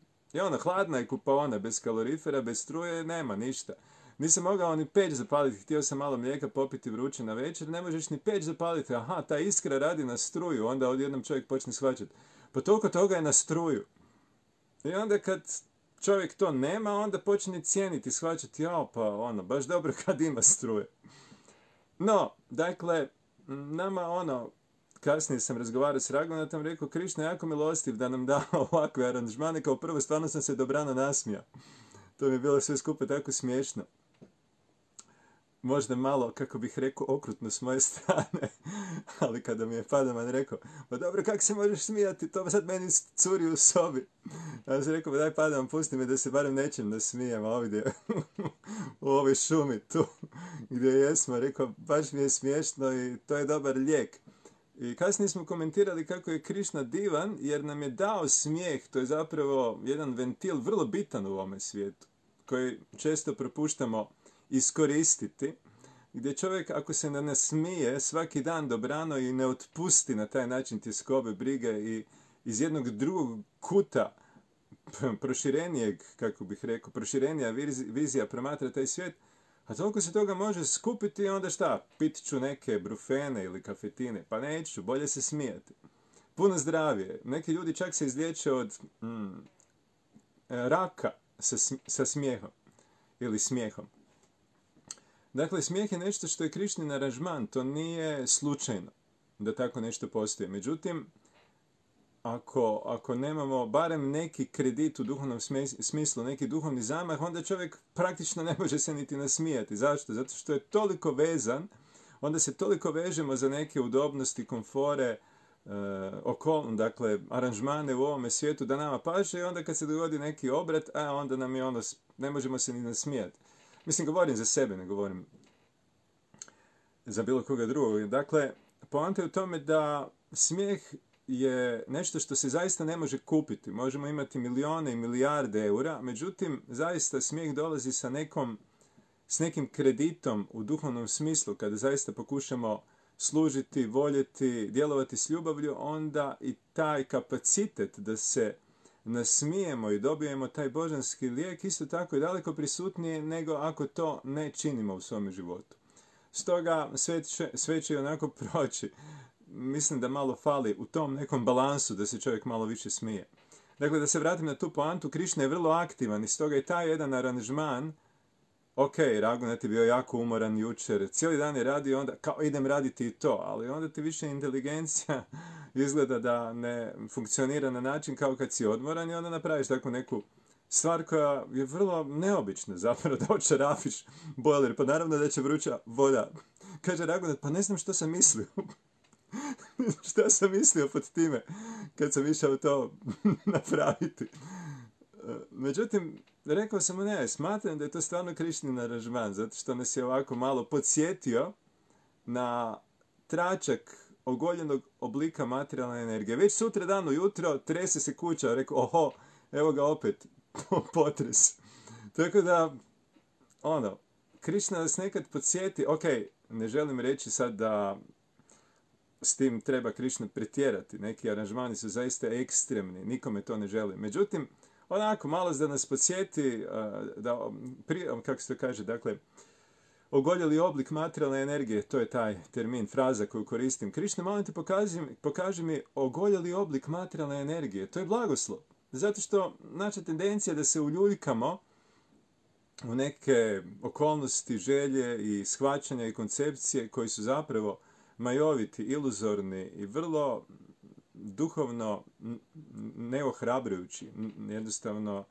[SPEAKER 1] hladna je kupaona, bez kalorifera, bez struje, nema ništa. Nisam mogao ni peć zapaliti, htio sam malo mlijeka popiti vruće na večer, ne možeš ni peć zapaliti, aha, ta iskra radi na struju, onda odjednom čovjek počne shvaćati. Pa toliko toga je na struju. I onda kad čovjek to nema, onda počne cijeniti, shvaćati, baš dobro kad ima struje. No, dakle, nama kasnije sam razgovarao s Ragunatom, rekao, Krišna je jako milostiv da nam da ovakve aranžmane, kao prvo stvarno sam se dobrano nasmijao. To mi je bilo sve skupa tako smiješno. Možda malo, kako bih rekao, okrutno s moje strane, ali kada mi je Padaman rekao, pa dobro, kako se možeš smijati, to sad meni curi u sobi. Ja sam rekao, pa daj Padaman, pusti me da se barem nečem nasmijem ovdje, u ovoj šumi tu, gdje jesmo. Rekao, baš mi je smiješno i to je dobar lijek. I kasnije smo komentirali kako je Krišna divan, jer nam je dao smijeh, to je zapravo jedan ventil vrlo bitan u ovome svijetu, koji često propuštamo iskoristiti, gdje čovjek ako se ne nasmije svaki dan dobrano i ne otpusti na taj način tjeskobe, brige i iz jednog drugog kuta proširenijeg, kako bih rekao, proširenija vizija promatra taj svijet, a toliko se toga može skupiti i onda šta? Pit ću neke brufene ili kafetine. Pa neću, bolje se smijati. Puno zdravije. Neki ljudi čak se izliječe od raka sa smijehom ili smijehom. Dakle, smijeh je nešto što je Krišnin aranžman, to nije slučajno da tako nešto postoji. Međutim, ako nemamo barem neki kredit u duhovnom smislu, neki duhovni zamah, onda čovjek praktično ne može se niti nasmijati. Zašto? Zato što je toliko vezan, onda se toliko vežemo za neke udobnosti, komfore, dakle, aranžmane u ovome svijetu da nama paše i onda kad se dogodi neki obrat, onda nam je ne možemo se ni nasmijati. Mislim, govorim za sebe, ne govorim za bilo koga drugog. Dakle, poanta je u tome da smijeh je nešto što se zaista ne može kupiti. Možemo imati milijone i milijarde eura, međutim, zaista smijeh dolazi s nekim kreditom u duhovnom smislu, kada zaista pokušamo služiti, voljeti, djelovati s ljubavlju, onda i taj kapacitet da se nasmijemo i dobijemo taj božanski lijek isto tako je daleko prisutnije nego ako to ne činimo u svom životu. Stoga sve će onako proći. Mislim da malo fali u tom nekom balansu da se čovjek malo više smije. Dakle, da se vratim na tu poantu, Krišna je vrlo aktivan i stoga je taj jedan aranžman, ok, Raghunath je bio jako umoran jučer, cijeli dan je radio, onda kao idem raditi i to, ali onda ti više inteligencija izgleda da ne funkcionira na način kao kad si odmoran i onda napraviš takvu neku stvar koja je vrlo neobična, zapravo da očarafiš bojler, pa naravno da će vruća voda. Kaže Raghunath, pa ne znam što sam mislio. Šta sam mislio pod time kad sam išao to napraviti. Međutim, rekao sam mu ne, smatram da je to stvarno Krišnin aranžman, zato što nas je ovako malo podsjetio na tračak ogoljenog oblika materijalne energije. Već sutra dan ujutro trese se kuća, rekao, oho, evo ga opet, potres. Tako da, Krišna nas nekad podsjeti, ok, ne želim reći sad da s tim treba Krišna pretjerati. Neki aranžmani su zaista ekstremni, nikome to ne želim. Međutim, onako, malo da nas podsjeti, kako se to kaže, dakle, ogoljeli oblik materijalne energije, to je taj termin, fraza koju koristim. Krišna, molim te, pokaži mi ogoljeli oblik materijalne energije. To je blagoslov. Zato što naša tendencija da se uljuljkamo u neke okolnosti, želje i shvaćanja i koncepcije koji su zapravo majoviti, iluzorni i vrlo duhovno neohrabrujući, jednostavno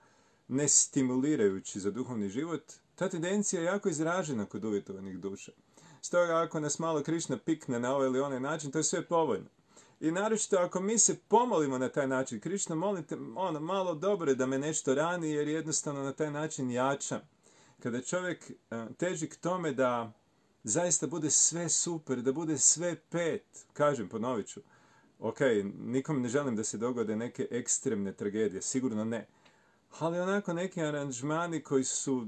[SPEAKER 1] nestimulirajući za duhovni život, ta tendencija je jako izražena kod uvjetovanih duša. Stoga ako nas malo Krišna pikne na ovaj ili onaj način, to je sve povoljno. I naročito ako mi se pomolimo na taj način, Krišna, molite, malo dobro je da me nešto rani, jer jednostavno na taj način jačam. Kada čovjek teži k tome da zaista bude sve super, da bude sve pet, kažem, ponovit ću, ok, nikom ne želim da se dogode neke ekstremne tragedije, sigurno ne. Ali onako neki aranžmani koji su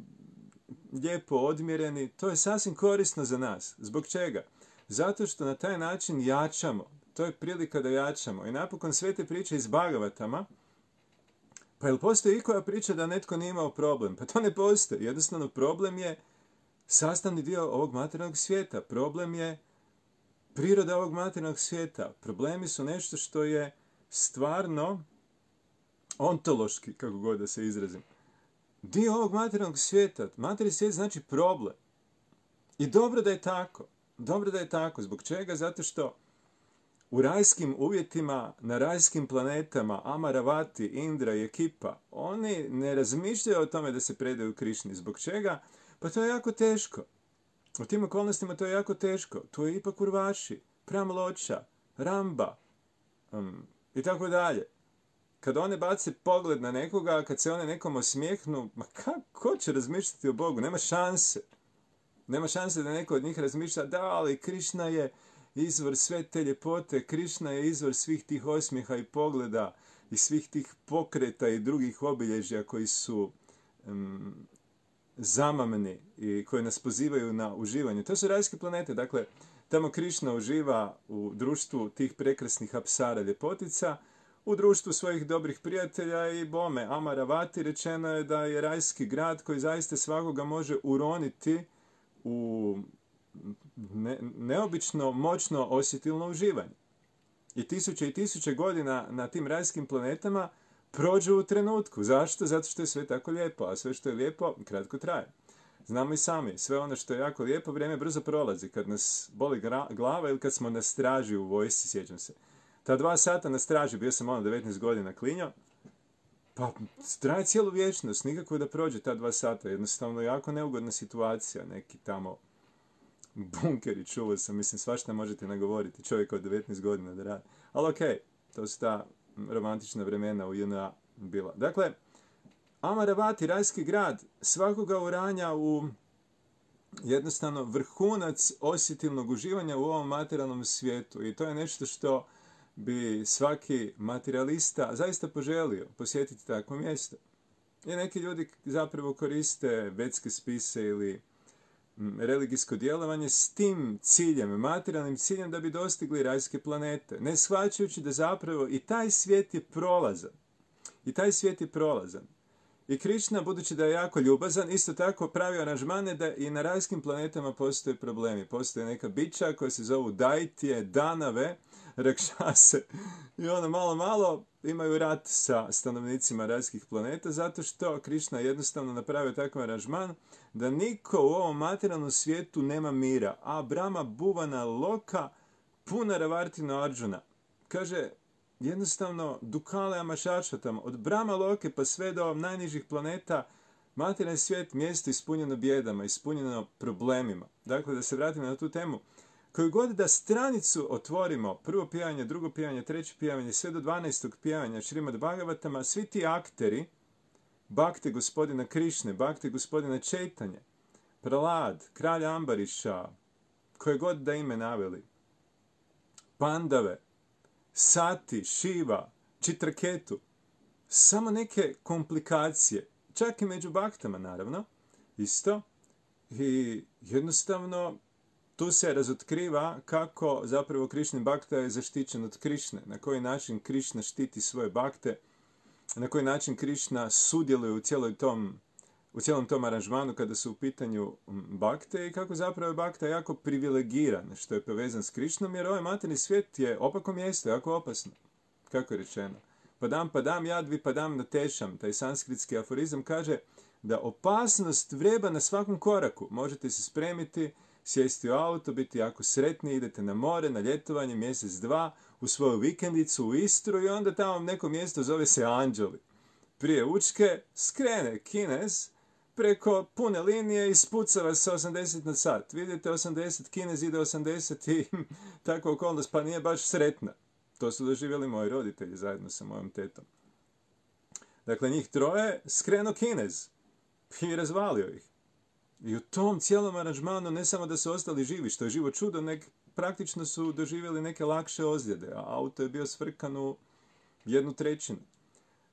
[SPEAKER 1] lijepo odmjereni, to je sasvim korisno za nas. Zbog čega? Zato što na taj način jačamo. To je prilika da jačamo. I napokon sve te priče iz Bhagavatama, pa jel postoji ikoja priča da netko nije imao problem? Pa to ne postoji. Jednostavno problem je sastavni dio ovog materijalnog svijeta. Problem je priroda ovog materijalnog svijeta. Problemi su nešto što je stvarno ontološki, kako god da se izrazim, dio ovog materijalnog svijeta. Materijalni svijet znači problem. I dobro da je tako. Dobro da je tako. Zbog čega? Zato što u rajskim uvjetima, na rajskim planetama, Amaravati, Indra i ekipa, oni ne razmišljaju o tome da se predaju Krišni. Zbog čega? Pa to je jako teško. U tim okolnostima to je jako teško. Tu je ipak Urvaši, Pramloča, Ramba i tako dalje. Kad one bace pogled na nekoga, kad se one nekom osmijehnu, ma kako će razmišljati o Bogu? Nema šanse. Nema šanse da neko od njih razmišlja, da, ali Krišna je izvor sve te ljepote, Krišna je izvor svih tih osmijeha i pogleda i svih tih pokreta i drugih obilježja koji su zamamni i koji nas pozivaju na uživanje. To su rajske planete, dakle, tamo Krišna uživa u društvu tih prekrasnih apsara ljepotica, u društvu svojih dobrih prijatelja i bome. Amaravati, rečeno je da je rajski grad koji zaista svakoga može uroniti u neobično moćno osjetilno uživanje. I tisuće godina na tim rajskim planetama prođu u trenutku. Zašto? Zato što je sve tako lijepo, a sve što je lijepo kratko traje. Znamo i sami, sve ono što je jako lijepo, vrijeme brzo prolazi. Kad nas boli glava ili kad smo na straži u vojsci, sjećam se. Ta 2 sata na straži, bio sam 19 godina klinjo, pa traje cijelu vječnost, nikako da prođe ta 2 sata. Jednostavno jako neugodna situacija, neki tamo bunkeri, čuo sam, mislim, svašta možete nagovoriti čovjek od 19 godina da radi. Ali okej, to su ta romantična vremena u JNA bila. Dakle, Amaravati, rajski grad, svakoga uranja u jednostavno vrhunac osjetilnog uživanja u ovom materijalnom svijetu. I to je nešto što bi svaki materialista zaista poželio posjetiti takvo mjesto. I neki ljudi zapravo koriste vedske spise ili religijsko djelovanje s tim ciljem, materijalnim ciljem da bi dostigli rajske planete. Ne shvaćajući da zapravo i taj svijet je prolazan. I taj svijet je prolazan. I Krišna, budući da je jako ljubazan, isto tako pravi aranžmane da i na rajskim planetama postoje problemi. Postoje neka bića koja se zovu Daitije, Danave, Rakšase. I ono malo imaju rat sa stanovnicima rajskih planeta zato što Krišna jednostavno napravio takav aranžman da niko u ovom materijalnom svijetu nema mira. A Brahma Bhuvana Loka Punaravartino Arjuna. Kaže, jednostavno, Dukale Amašašvatam, od Brahma Loke pa sve do najnižih planeta, materijalni svijet, mjesto ispunjeno bjedama, ispunjeno problemima. Dakle, da se vratimo na tu temu. Koju god da stranicu otvorimo, prvo pjevanje, drugo pjevanje, treće pjevanje, sve do 12. pjevanja Šrimad Bhagavatama, svi ti akteri, bakte gospodina Krišne, bakte gospodina Čejtanje, Pralad, kralja Ambariša, koje god da ime naveli, Pandave, Sati, Šiva, Čitraketu, samo neke komplikacije, čak i među baktama naravno, isto, i jednostavno tu se razotkriva kako zapravo Krišni bakta je zaštićen od Krišne, na koji način Krišna štiti svoje bakte, na koji način Krišna sudjeluje u cijelom tom aranžmanu kada su u pitanju bakte i kako zapravo je bakta jako privilegiran što je povezan s Krišnom, jer ovaj materijalni svijet je opako mjesto, jako opasno. Kako je rečeno? Padam jadvi padam na tešam. Taj sanskritski aforizam kaže da opasnost vreba na svakom koraku. Možete se spremiti, sjesti u auto, biti jako sretni, idete na more, na ljetovanje, mjesec, 2, u svoju vikendicu u Istru i onda tamo neko mjesto zove se Anđeli. Prije Učke skrene Kinez preko pune linije i spucava se 80 na sat. Vidite 80, Kinez ide 80 i takva okolnost pa nije baš sretna. To su doživjeli moji roditelji zajedno sa mojom tetom. Dakle, njih 3 skreno Kinez i razvalio ih. I u tom cijelom aranžmanu ne samo da su ostali živi, što je živo čudo, praktično su doživjeli neke lakše ozljede, a auto je bio svrkan u 1/3.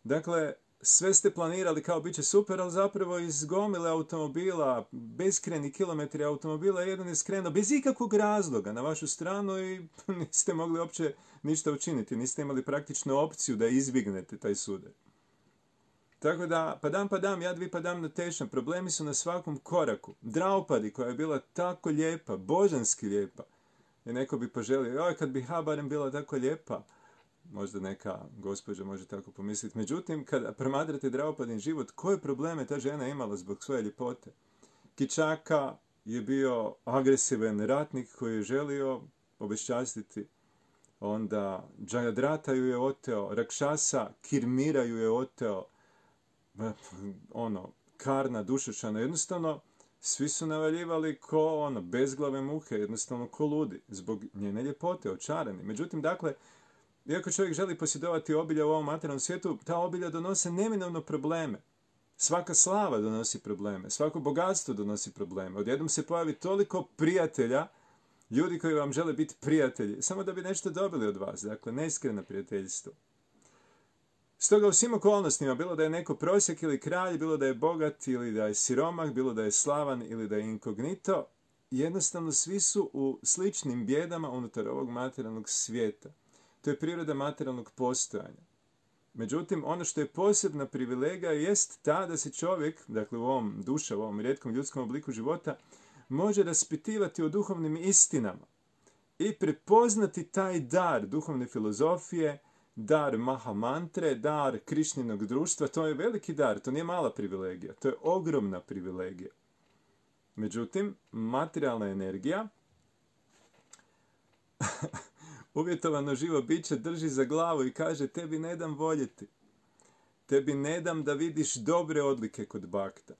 [SPEAKER 1] Dakle, sve ste planirali kao bit će super, ali zapravo iz gomile automobila, beskreni kilometri automobila, jedan je skrenuo bez ikakvog razloga na vašu stranu i niste mogli uopće ništa učiniti, niste imali praktično opciju da izbjegnete taj sudar. Tako da, padam, jadvi padam na tešam, problemi su na svakom koraku. Draupadi, koja je bila tako lijepa, božanski lijepa, i neko bi poželio, kad bi barem bila tako lijepa, možda neka gospođa može tako pomisliti. Međutim, kada promatrate Draupadin život, koje probleme ta žena imala zbog svoje ljepote? Kičaka je bio agresivan ratnik koji je želio obeščastiti. Onda Jayadrata ju je oteo, Rakšasa, Kirmira ju je oteo, Karna, Dušačana, jednostavno svi su navaljivali ko bezglave muhe, jednostavno ko ludi, zbog njene ljepote, očarani. Međutim, dakle, iako čovjek želi posjedovati obilja u ovom materijalnom svijetu, ta obilja donose neminovno probleme. Svaka slava donosi probleme, svako bogatstvo donosi probleme. Odjednom se pojavi toliko prijatelja, ljudi koji vam žele biti prijatelji, samo da bi nešto dobili od vas, dakle, neiskreno prijateljstvo. Stoga u svim okolnostima, bilo da je neko prosjek ili kralj, bilo da je bogat ili da je siromah, bilo da je slavan ili da je inkognito, jednostavno svi su u sličnim bjedama unutar ovog materijalnog svijeta. To je priroda materijalnog postojanja. Međutim, ono što je posebna privilegija jest ta da se čovjek, dakle u ovom duša, u ovom rijetkom ljudskom obliku života, može raspitivati o duhovnim istinama i prepoznati taj dar duhovne filozofije, dar Mahamantre, dar Krišninog društva. To je veliki dar, to nije mala privilegija, to je ogromna privilegija. Međutim, materijalna energija uvjetovano živo biće drži za glavu i kaže tebi ne dam voljeti. Tebi ne dam da vidiš dobre odlike kod bakta.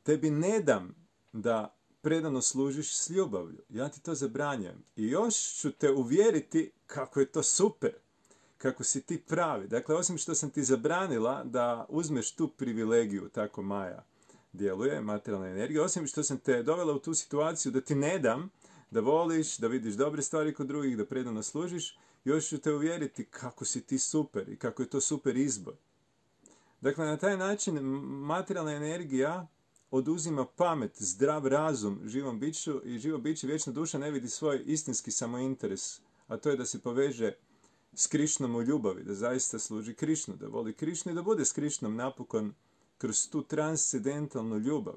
[SPEAKER 1] Tebi ne dam da predano služiš s ljubavlju. Ja ti to zabranjujem. I još ću te uvjeriti kako je to super. Kako si ti pravi. Dakle, osim što sam ti zabranila da uzmeš tu privilegiju, tako Maja djeluje, materijalna energija, osim što sam te dovela u tu situaciju da ti ne dam da voliš, da vidiš dobre stvari kod drugih, da predano služiš, još ću te uvjeriti kako si ti super i kako je to super izbor. Dakle, na taj način materijalna energija oduzima pamet, zdrav razum živom biću i živo biće, vječna duša ne vidi svoj istinski samointeres, a to je da se poveže s Krišnom u ljubavi, da zaista služi Krišnu, da voli Krišnu i da bude s Krišnom napokon kroz tu transcendentalnu ljubav.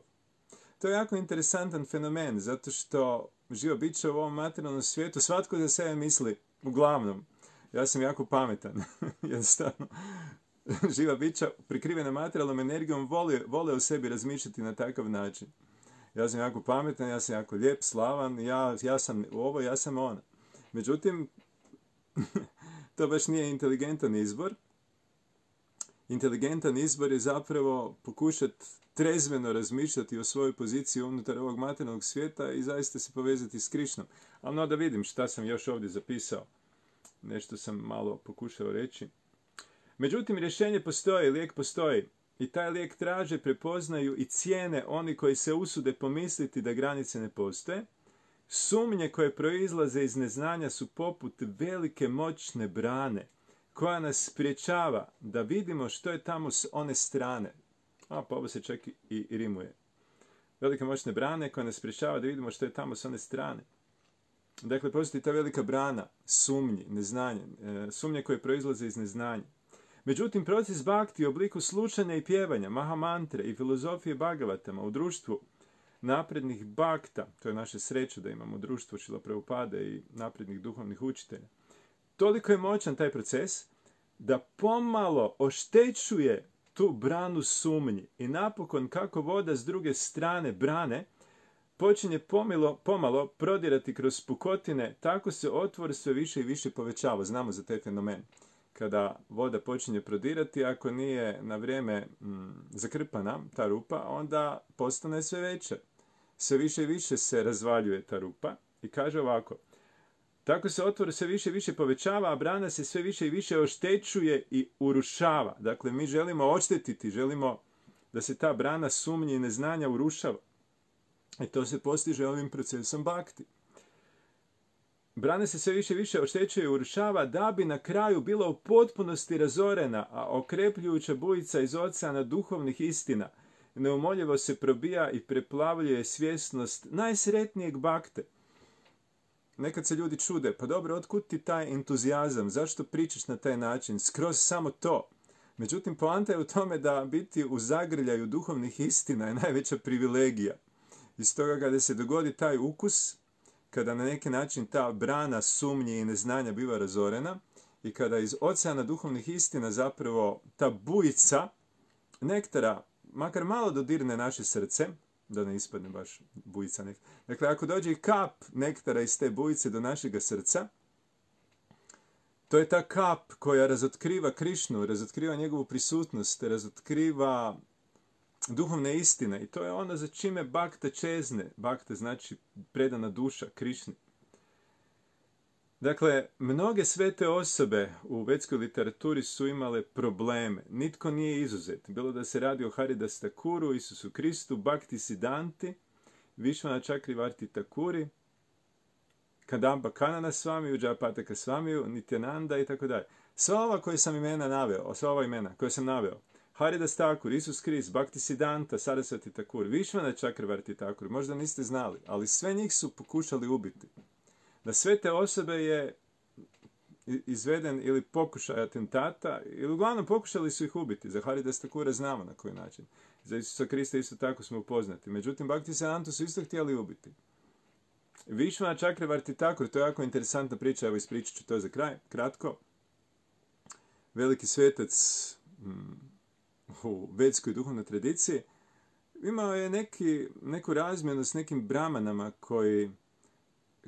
[SPEAKER 1] To je jako interesantan fenomen, zato što živo biće u ovom materijalnom svijetu, svatko za sebe misli, uglavnom, ja sam jako pametan, jednostavno, živa bića prikrivena materijalnom energijom vole u sebi razmišljati na takav način. Ja sam jako pametan, ja sam jako lijep, slavan, ja sam ovo, ja sam ono. Međutim, to baš nije inteligentan izbor. Inteligentan izbor je zapravo pokušati trezveno razmišljati o svojoj poziciji unutar ovog materijalnog svijeta i zaista se povezati s Krišnom. Ali no da vidim šta sam još ovdje zapisao. Nešto sam malo pokušao reći. Međutim, rješenje postoji, lijek postoji. I taj lijek traže, prepoznaju i cijene oni koji se usude pomisliti da granice ne postoje. Sumnje koje proizlaze iz neznanja su poput velike moćne brane koja nas spriječava da vidimo što je tamo s one strane. Pa ovo se čak i rimuje. Velike moćne brane koja nas spriječava da vidimo što je tamo s one strane. Dakle, postoji ta velika brana sumnji, neznanje, sumnje koje proizlaze iz neznanja. Međutim, proces bhakti u obliku slušanja i pjevanja, mahamantre i filozofije Bhagavatama u društvu naprednih bhakta, to je naša sreća da imamo društvo Šrila Prabhupade i naprednih duhovnih učitelja, toliko je moćan taj proces da pomalo oštećuje tu branu sumnji i napokon kako voda s druge strane brane počinje pomalo prodirati kroz pukotine, tako se otvor sve više i više povećava. Znamo za taj fenomen. Kada voda počinje prodirati, ako nije na vrijeme zakrpana ta rupa, onda postane sve veća. Sve više i više se razvaljuje ta rupa i kaže ovako: tako se otvor sve više i više povećava, a brana se sve više i više oštećuje i urušava. Dakle, mi želimo oštetiti, želimo da se ta brana sumnje i neznanja urušava. I to se postiže ovim procesom bhakti. Brana se sve više i više oštećuje i urušava da bi na kraju bila u potpunosti razorena, a okrepljujuća bujica iz oceana duhovnih istina neumoljivo se probija i preplavljuje svjesnost najsretnijeg bhakte. Nekad se ljudi čude, pa dobro, otkud ti taj entuzijazam, zašto pričaš na taj način, skroz samo to. Međutim, poanta je u tome da biti u zagrljaju duhovnih istina je najveća privilegija. I stoga kada se dogodi taj ukus, kada na neki način ta brana sumnje i neznanja biva razorena i kada iz oceana duhovnih istina zapravo ta bujica nektara makar malo dodirne naše srce, da ne ispadne baš bujica nektara. Dakle, ako dođe i kap nektara iz te bujice do našega srca, to je ta kap koja razotkriva Krišnu, razotkriva njegovu prisutnost, razotkriva duhovne istine i to je ono za čime bhakta čezne. Bhakta znači predana duša Krišni. Dakle, mnoge svete osobe u vedskoj literaturi su imale probleme. Nitko nije izuzet. Bilo da se radi o Haridas Thakuru, Isusu Kristu, Bhakti Siddhanti, Vishvana Chakravarti Thakuri, Kadamba Kanana Swamiju, Jayapataka Swamiju, Nityananda i tako dalje. Sva ova koje sam imena naveo, sva ova imena koje sam naveo, Haridas Thakur, Isus Krist, Bhakti Siddhanta, Sarasvati Thakur, Vishvana Chakravarti Thakur, možda niste znali, ali sve njih su pokušali ubiti. Na sve te osobe je izveden ili pokušaj atentata, ili uglavnom pokušali su ih ubiti. Za Haridas Thakura znamo na koji način. Za Isusa Krista isto tako smo upoznati. Međutim, Bhakti Siddhantu su isto htjeli ubiti. Vishvana Chakravarti Thakur, to je jako interesantna priča, evo ispričat ću to za kraj, kratko. Veliki svetac u vedskoj duhovnoj tradiciji imao je neku razmjenu s nekim brahmanama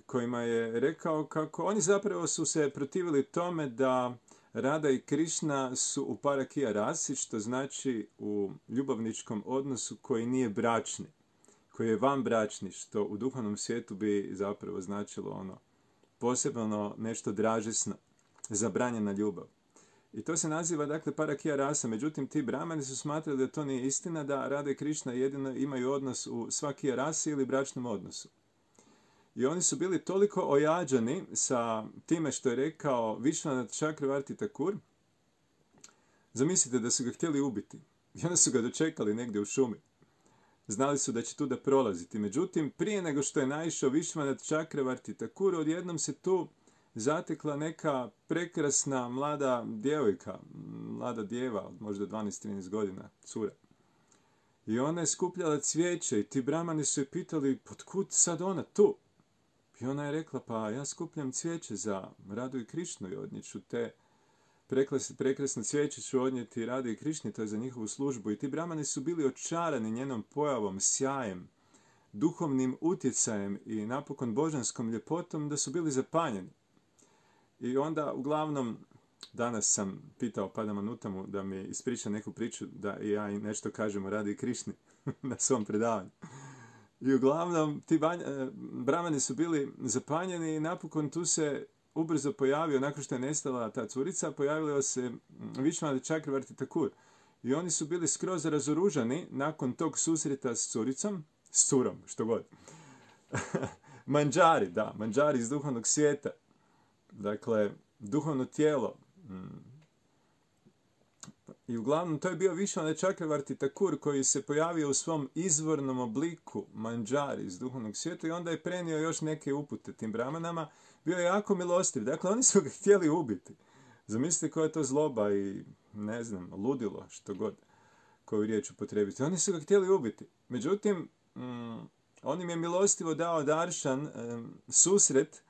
[SPEAKER 1] kojima je rekao kako oni zapravo su se protivili tome da Rada i Krišna su u parakija rasi, što znači u ljubavničkom odnosu koji nije bračni, koji je vanbračni, što u duhovnom svijetu bi zapravo značilo posebno nešto dražesno, zabranjena ljubav. I to se naziva, dakle, parakija rasa. Međutim, ti brahmani su smatrali da to nije istina, da Rada i Krišna jedino imaju odnos u svakija rasi ili bračnom odnosu. I oni su bili toliko ojađani sa time što je rekao Vishwanath Chakravarti Thakur, zamislite da su ga htjeli ubiti. I onda su ga dočekali negdje u šumi. Znali su da će tu da prolaziti. Međutim, prije nego što je naišao Vishwanath Chakravarti Thakur, odjednom se tu zatekla neka prekrasna mlada djevojka, mlada djeva, možda 12-13 godina, cura. I ona je skupljala cvijeće i ti brahmani su je pitali, otkud sad ona tu? I ona je rekla, pa ja skupljam cvijeće za Radu i Krišnu i odnijeću te prekrasne cvijeće ću odnijeti Radi i Krišni, to je za njihovu službu. I ti brahmani su bili očarani njenom pojavom, sjajem, duhovnim utjecajem i napokon božanskom ljepotom da su bili zapanjeni. I onda, uglavnom, danas sam pitao Padmanabhutamu da mi ispriča neku priču da i ja nešto kažem o Radi i Krišni na svom predavanju. I uglavnom, ti brahmani su bili zapanjeni i napokon tu se ubrzo pojavio, nakon što je nestala ta curica, pojavio se Vishwanath Chakravarti Thakur. I oni su bili skroz razoružani nakon tog susreta s curicom, s curom, što god. Manđari iz duhovnog svijeta. Dakle, duhovno tijelo. I uglavnom, to je bio Vishwanath Chakravarti Thakur koji se pojavio u svom izvornom obliku manđari iz duhovnog svijeta i onda je prenio još neke upute tim brahmanama. Bio je jako milostiv. Dakle, oni su ga htjeli ubiti. Zamislite koja je to zloba i, ne znam, ludilo, što god, koju riječ upotrebiti. Oni su ga htjeli ubiti. Međutim, on im je milostivo dao daršan, susret,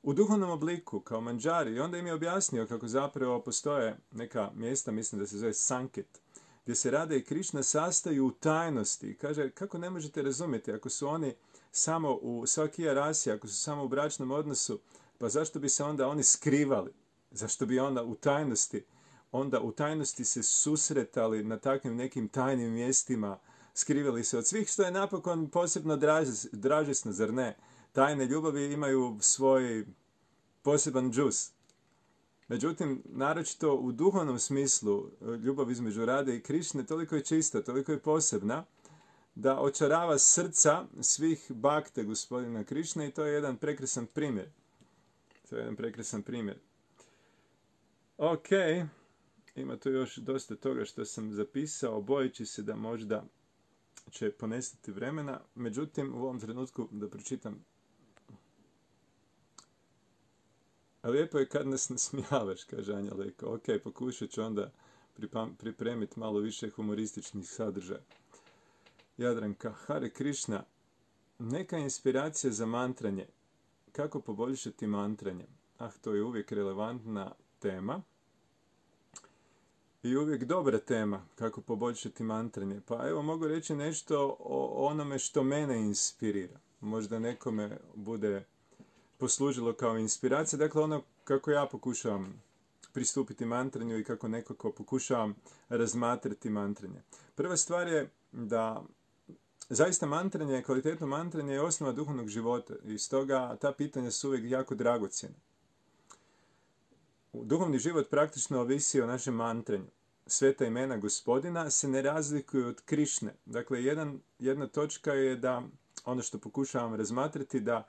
[SPEAKER 1] u duhovnom obliku, kao manđari. I onda im je objasnio kako zapravo postoje neka mjesta, mislim da se zove Sanket, gdje se Rada i Krišna sastaju u tajnosti. I kaže, kako ne možete razumjeti, ako su oni samo u svakija rasi, ako su samo u bračnom odnosu, pa zašto bi se onda oni skrivali? Zašto bi onda u tajnosti se susretali na takvim nekim tajnim mjestima, skrivali se od svih, što je napokon posebno dražesno, zar ne? Tajne ljubavi imaju svoj poseban džus. Međutim, naročito u duhovnom smislu, ljubav između Rade i Krišne toliko je čista, toliko je posebna, da očarava srca svih bakte gospodina Krišne i to je jedan prekrasan primjer. Ok, ima tu još dosta toga što sam zapisao, bojeći se da možda će ponestati vremena. Međutim, u ovom trenutku da pročitam. A lijepo je kad nas nasmijavaš, kaže Anja Leko. Ok, pokušat ću onda pripremiti malo više humorističnih sadržaja. Jadranka, Hare Krišna, neka inspiracija za mantranje. Kako poboljšati mantranje? To je uvijek relevantna tema. I uvijek dobra tema, kako poboljšati mantranje. Pa evo, mogu reći nešto o onome što mene inspirira. Možda nekome bude poslužilo kao inspiracija. Dakle, ono kako ja pokušavam pristupiti mantranju i kako nekako pokušavam razmatrati mantranje. Prva stvar je da zaista mantranje, kvalitetno mantranje je osnova duhovnog života i stoga ta pitanja su uvijek jako dragocjena. Duhovni život praktično ovisi o našem mantranju. Sveta imena gospodina se ne razlikuju od Krišne. Dakle, jedna točka je da, ono što pokušavam razmatrati, da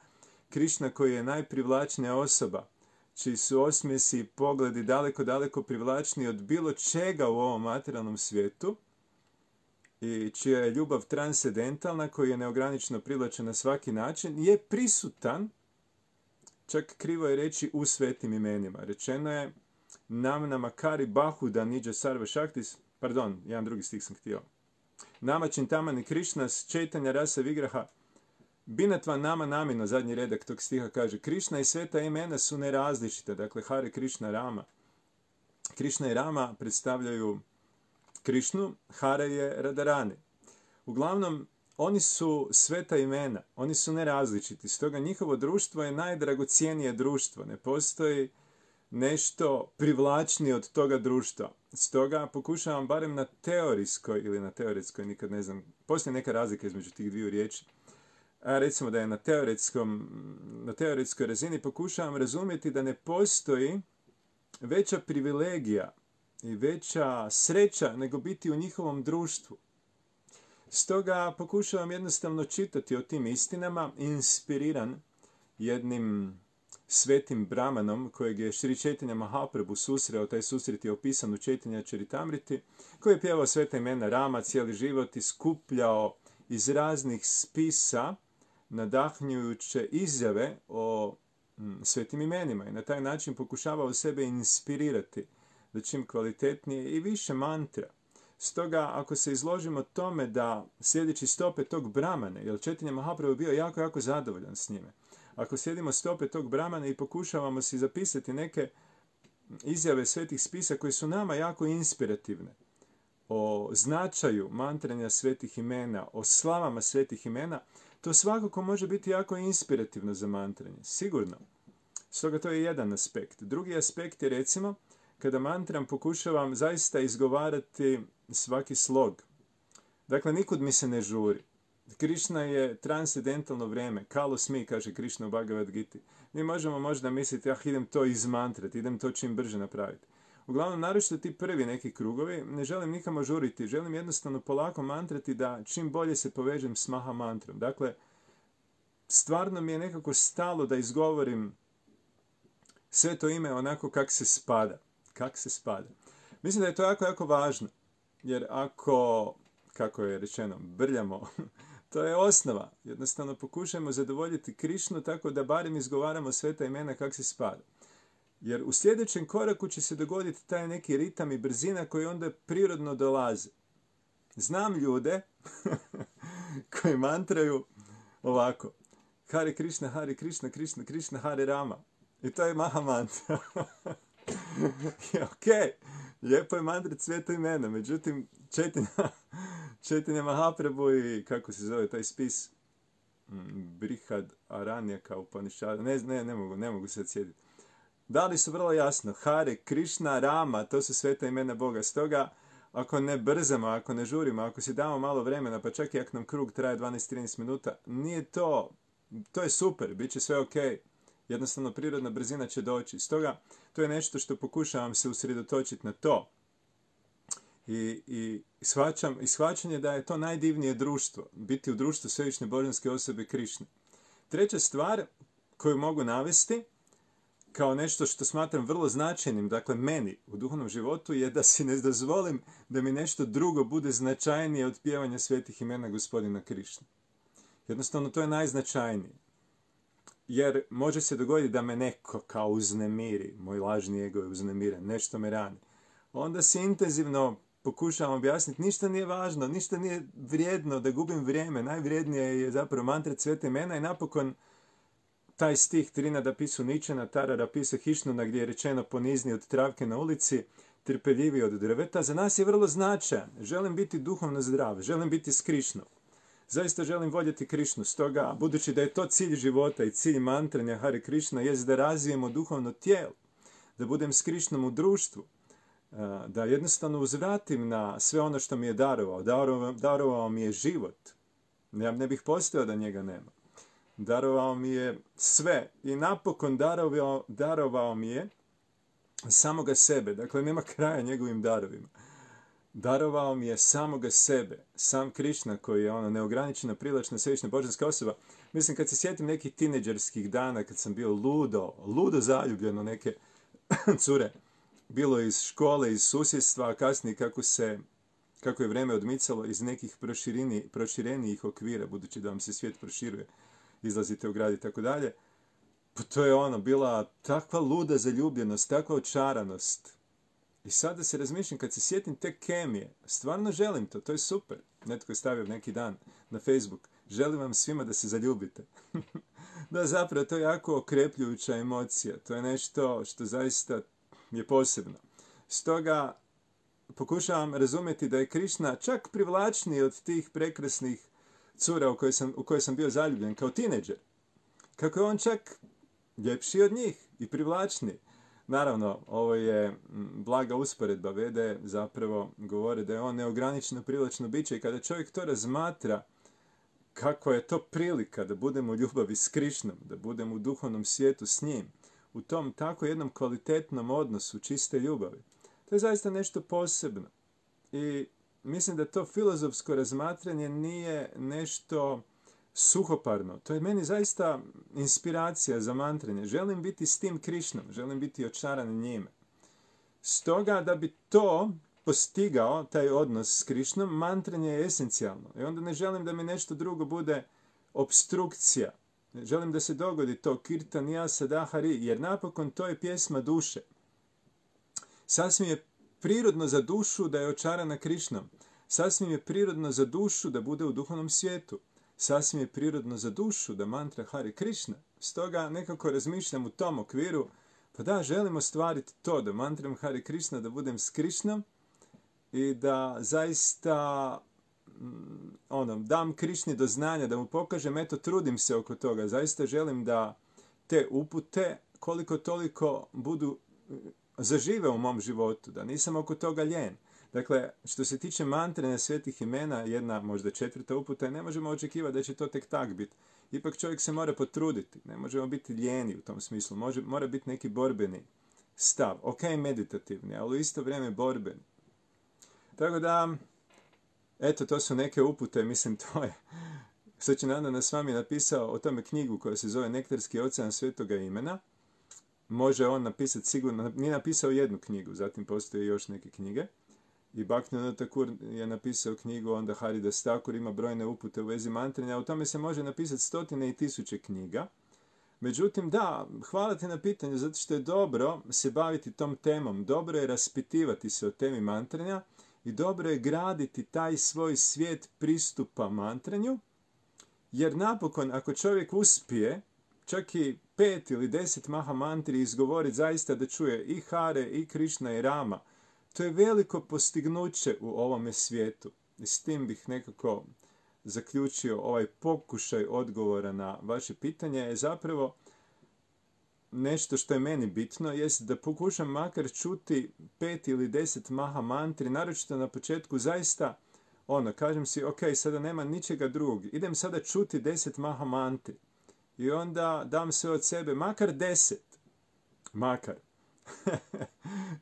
[SPEAKER 1] Krišna koji je najprivlačnija osoba, čiji su osmjesi i pogledi daleko, daleko privlačniji od bilo čega u ovom materijalnom svijetu i čija je ljubav transcendentalna, koji je neograničeno privlačen na svaki način, je prisutan, čak krivo je reći, u svetim imenima. Rečeno je Nam namakari bahuda niđa sarva šaktis, pardon, jedan drugi stih sam htio. Nama čintamani Krišnas četanja rasa vigraha binatva nama namino, zadnji redak tog stiha kaže, Krišna i sveta imena su nerazličite, dakle Hare Krišna Rama. Krišna i Rama predstavljaju Krišnu, Hare je Radharani. Uglavnom, oni su sveta imena, oni su nerazličiti, stoga njihovo društvo je najdragocjenije društvo, ne postoji nešto privlačnije od toga društva. Stoga pokušavam barem na teorijskoj, ili na teoretskoj, nikad ne znam, postoji neka razlika između tih dviju riječi, a recimo da je na teoretskoj razini pokušavam razumjeti da ne postoji veća privilegija i veća sreća nego biti u njihovom društvu. Stoga pokušavam jednostavno čitati o tim istinama, inspiriran jednim svetim brahmanom kojeg je Šri Chaitanya Mahaprabhu susreo. Taj susret je opisan u Chaitanya Charitamriti, koji je pjevao sveta imena Rama cijeli život i skupljao iz raznih spisa nadahnjujuće izjave o svetim imenima i na taj način pokušavao sebe inspirirati da čim kvalitetnije i više mantra. Stoga, ako se izložimo tome da sljedeći stope tog Brahmane, jer Chaitanya Mahaprabhu bio jako zadovoljan s njime, ako slijedimo stope tog Brahmana i pokušavamo si zapisati neke izjave svetih spisa koje su nama jako inspirativne, o značaju mantranja svetih imena, o slavama svetih imena, to svakako može biti jako inspirativno za mantranje, sigurno. Stoga to je jedan aspekt. Drugi aspekt je, recimo, kada mantram pokušavam zaista izgovarati svaki slog. Dakle, nikud mi se ne žuri. Krišna je transcendentalno vrijeme. Kalos mi, kaže Krišna u Bhagavad Gita. Mi možemo možda misliti, idem to izmantrati, idem to čim brže napraviti. Uglavnom, naročito ti prvi neki krugovi, ne želim nikamo žuriti, želim jednostavno polako mantrati da čim bolje se povežem s Maha mantrom. Dakle, stvarno mi je nekako stalo da izgovorim sve to ime onako kak se spada. Kak se spada. Mislim da je to jako važno, jer ako, kako je rečeno, brljamo, to je osnova. Jednostavno pokušajmo zadovoljiti Krišnu tako da barem izgovaramo sveta imena kak se spada. Jer u sljedećem koraku će se dogoditi taj neki ritam i brzina koji onda prirodno dolaze. Znam ljude koji mantraju ovako. Hare Krishna, Krishna Krishna, Hare Rama. I to je Maha mantra. Ok, lijepo je mantrat sveto imena, međutim Chaitanya Mahaprabhu i kako se zove taj spis, Brihad Aranyaka Upanishada, ne mogu se sjetiti. Dali su vrlo jasno, Hare, Krishna, Rama, to su sveta imena Boga. Stoga, ako ne brzamo, ako ne žurimo, ako si damo malo vremena, pa čak i ako nam krug traje 12-13 minuta, nije to je super, bit će sve ok. Jednostavno, prirodna brzina će doći. Stoga, to je nešto što pokušavam se usredotočiti na to. I shvaćanje da je to najdivnije društvo, biti u društvu svevišnje božanske osobe Krišne. Treća stvar koju mogu navesti, kao nešto što smatram vrlo značajnim, dakle meni u duhovnom životu, je da si ne dozvolim da mi nešto drugo bude značajnije od pjevanja svetih imena gospodina Krišne. Jednostavno, to je najznačajnije. Jer može se dogoditi da me neko kao uznemiri, moj lažni ego je uznemiren, nešto me rani. Onda se intenzivno pokušavam objasniti, ništa nije važno, ništa nije vrijedno da gubim vrijeme, najvrijednije je zapravo mantrat sveta imena i napokon taj stih Trinada pisu Ničana, Tarara pisa Hišnuna, gdje je rečeno ponizni od travke na ulici, trpeljivi od drveta, za nas je vrlo značajan. Želim biti duhovno zdrav, želim biti s Krišnom. Zaista želim voljeti Krišnu, stoga, budući da je to cilj života i cilj mantranja Hare Krishna, jest da razvijemo duhovno tijelo, da budem s Krišnom u društvu, da jednostavno uzvratim na sve ono što mi je darovao. Darovao mi je život. Ja ne bih postojao da njega nema. Darovao mi je sve i napokon darovao mi je samoga sebe. Dakle, nema kraja njegovim darovima. Darovao mi je samoga sebe. Sam Krišna koji je neograničena, privlačna, svevišnja božanska osoba. Mislim, kad se sjetim nekih tineđerskih dana, kad sam bio ludo zaljubljen u neke cure, bilo iz škole, iz susjedstva, a kasnije kako je vrijeme odmicalo iz nekih proširenijih okvira, budući da vam se svijet proširuje, izlazite u grad i tako dalje. Pa to je bila takva luda zaljubljenost, takva očaranost. I sada se razmišljam, kad se sjetim te kemije, stvarno želim to je super. Netko je stavio neki dan na Facebook, želim vam svima da se zaljubite. Da, zapravo, to je jako okrepljujuća emocija, to je nešto što zaista je posebno. Stoga, pokušavam razumjeti da je Krišna čak privlačniji od tih prekrasnih cura u koje sam bio zaljubljen kao tineđer. Kako je on čak ljepši od njih i privlačniji. Naravno, ovo je blaga usporedba. Vede zapravo govore da je on neograničeno privlačno biće i kada čovjek to razmatra, kako je to prilika da budemo u ljubavi s Krišnom, da budemo u duhovnom svijetu s njim, u tom tako jednom kvalitetnom odnosu čiste ljubavi. To je zaista nešto posebno. I mislim da to filozofsko razmatranje nije nešto suhoparno. To je meni zaista inspiracija za mantranje. Želim biti s tim Krišnom, želim biti očaran njime. Stoga da bi to postigao, taj odnos s Krišnom, mantranje je esencijalno. I onda ne želim da mi nešto drugo bude obstrukcija. Želim da se dogodi to Kirtanija Sadahari, jer napokon to je pjesma duše. Sasvim je prirodno za dušu da je očarana Krišnom. Sasvim je prirodno za dušu da bude u duhovnom svijetu. Sasvim je prirodno za dušu da mantra Hare Krišna. Stoga nekako razmišljam u tom okviru, pa da, želim ostvariti to, da mantram Hare Krišna, da budem s Krišnom i da zaista dam Krišni do znanja, da mu pokažem, eto, trudim se oko toga. Zaista želim da te upute koliko toliko budu zažive u mom životu, da nisam oko toga ljen. Dakle, što se tiče mantranja svetih imena, jedna, možda 4. uputa, ne možemo očekivati da će to tek tak biti. Ipak čovjek se mora potruditi. Ne možemo biti lijeni u tom smislu. Mora biti neki borbeni stav. Ok, meditativni, ali u isto vrijeme borbeni. Tako da, eto, to su neke upute. Mislim, to je... Sačinandana s vami napisao o tome knjigu koja se zove Nektarski ocean svetoga imena. Može on napisati sigurno... Nije napisao jednu knjigu, zatim postoje još neke knjige. I Bhaktivinoda Thakur je napisao knjigu, onda Haridas Thakur ima brojne upute u vezi mantranja. O tome se može napisati 100 i 1000 knjiga. Međutim, da, hvala ti na pitanju, zato što je dobro se baviti tom temom. Dobro je raspitivati se o temi mantranja i dobro je graditi taj svoj svijet pristupa mantranju. Jer napokon, ako čovjek uspije, čak i 5 ili 10 maha mantri izgovoriti zaista da čuje i Hare, i Krišna, i Rama, to je veliko postignuće u ovome svijetu. I s tim bih nekako zaključio ovaj pokušaj odgovora na vaše pitanje. Je zapravo nešto što je meni bitno, jest da pokušam makar čuti 5 ili 10 maha mantri, naročito na početku zaista, kažem si, ok, sada nema ničega drugog, idem sada čuti 10 maha mantri. I onda dam sve od sebe, makar 10. Makar.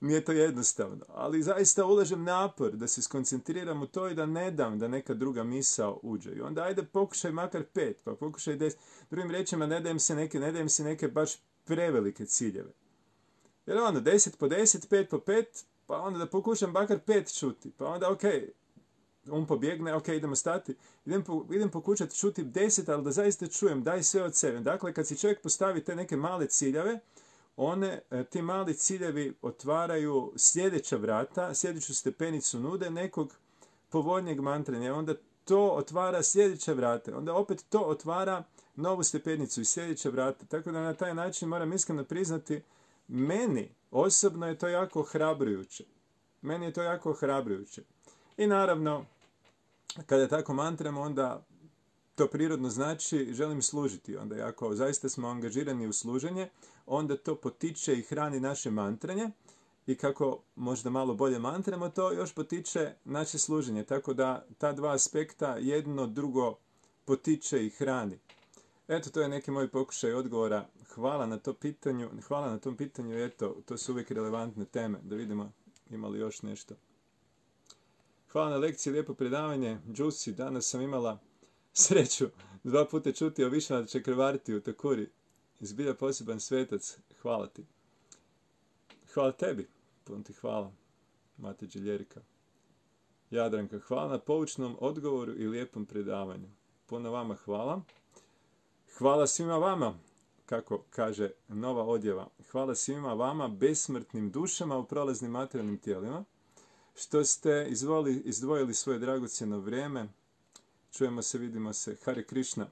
[SPEAKER 1] Nije to jednostavno, ali zaista ulažem napor da se skoncentriram u to i da ne dam da neka druga misao uđe. I onda ajde pokušaj makar 5, pa pokušaj 10. Drugim riječima, ne dajem si neke baš prevelike ciljeve. Jer 10 po 10, 5 po 5, pa onda da pokušam makar 5 čuti. Pa onda ok, pobjegne, ok, idemo stati. Idem pokušati čuti 10, ali da zaista čujem, daj sve od sebe. Dakle, kad si čovjek postavi te neke male ciljeve, ti mali ciljevi otvaraju sljedeća vrata, sljedeću stepenicu nude nekog povoljnijeg mantranja. Onda to otvara sljedeća vrata. Onda opet to otvara novu stepenicu i sljedeća vrata. Tako da na taj način moram iskreno priznati, meni osobno je to jako ohrabrujuće. Meni je to jako ohrabrujuće. I naravno, kada tako mantramo, onda to prirodno znači želim služiti. Onda ako zaista smo angažirani u služenje, onda to potiče i hrani naše mantranje. I kako možda malo bolje mantramo, to još potiče naše služenje. Tako da ta dva aspekta jedno drugo potiče i hrani. Eto, to je neki moj pokušaj odgovora. Hvala na tom pitanju. Eto, to su uvijek relevantne teme. Da vidimo ima li još nešto. Hvala na lekciji, lijepo predavanje. Džusi, danas sam imala sreću 2 puta čuti o Višvanath Čakravartiju u Thakuri. Zbilja poseban svetac. Hvala ti. Hvala tebi. Puno ti hvala. Mate Ljerika. Jadranka, hvala na poučnom odgovoru i lijepom predavanju. Puno vama hvala. Hvala svima vama, kako kaže nova odjeva. Hvala svima vama, besmrtnim dušama u prolaznim materijalnim tijelima, što ste izdvojili svoje dragocjeno vrijeme. Čujemo se, vidimo se. Hare Krišna.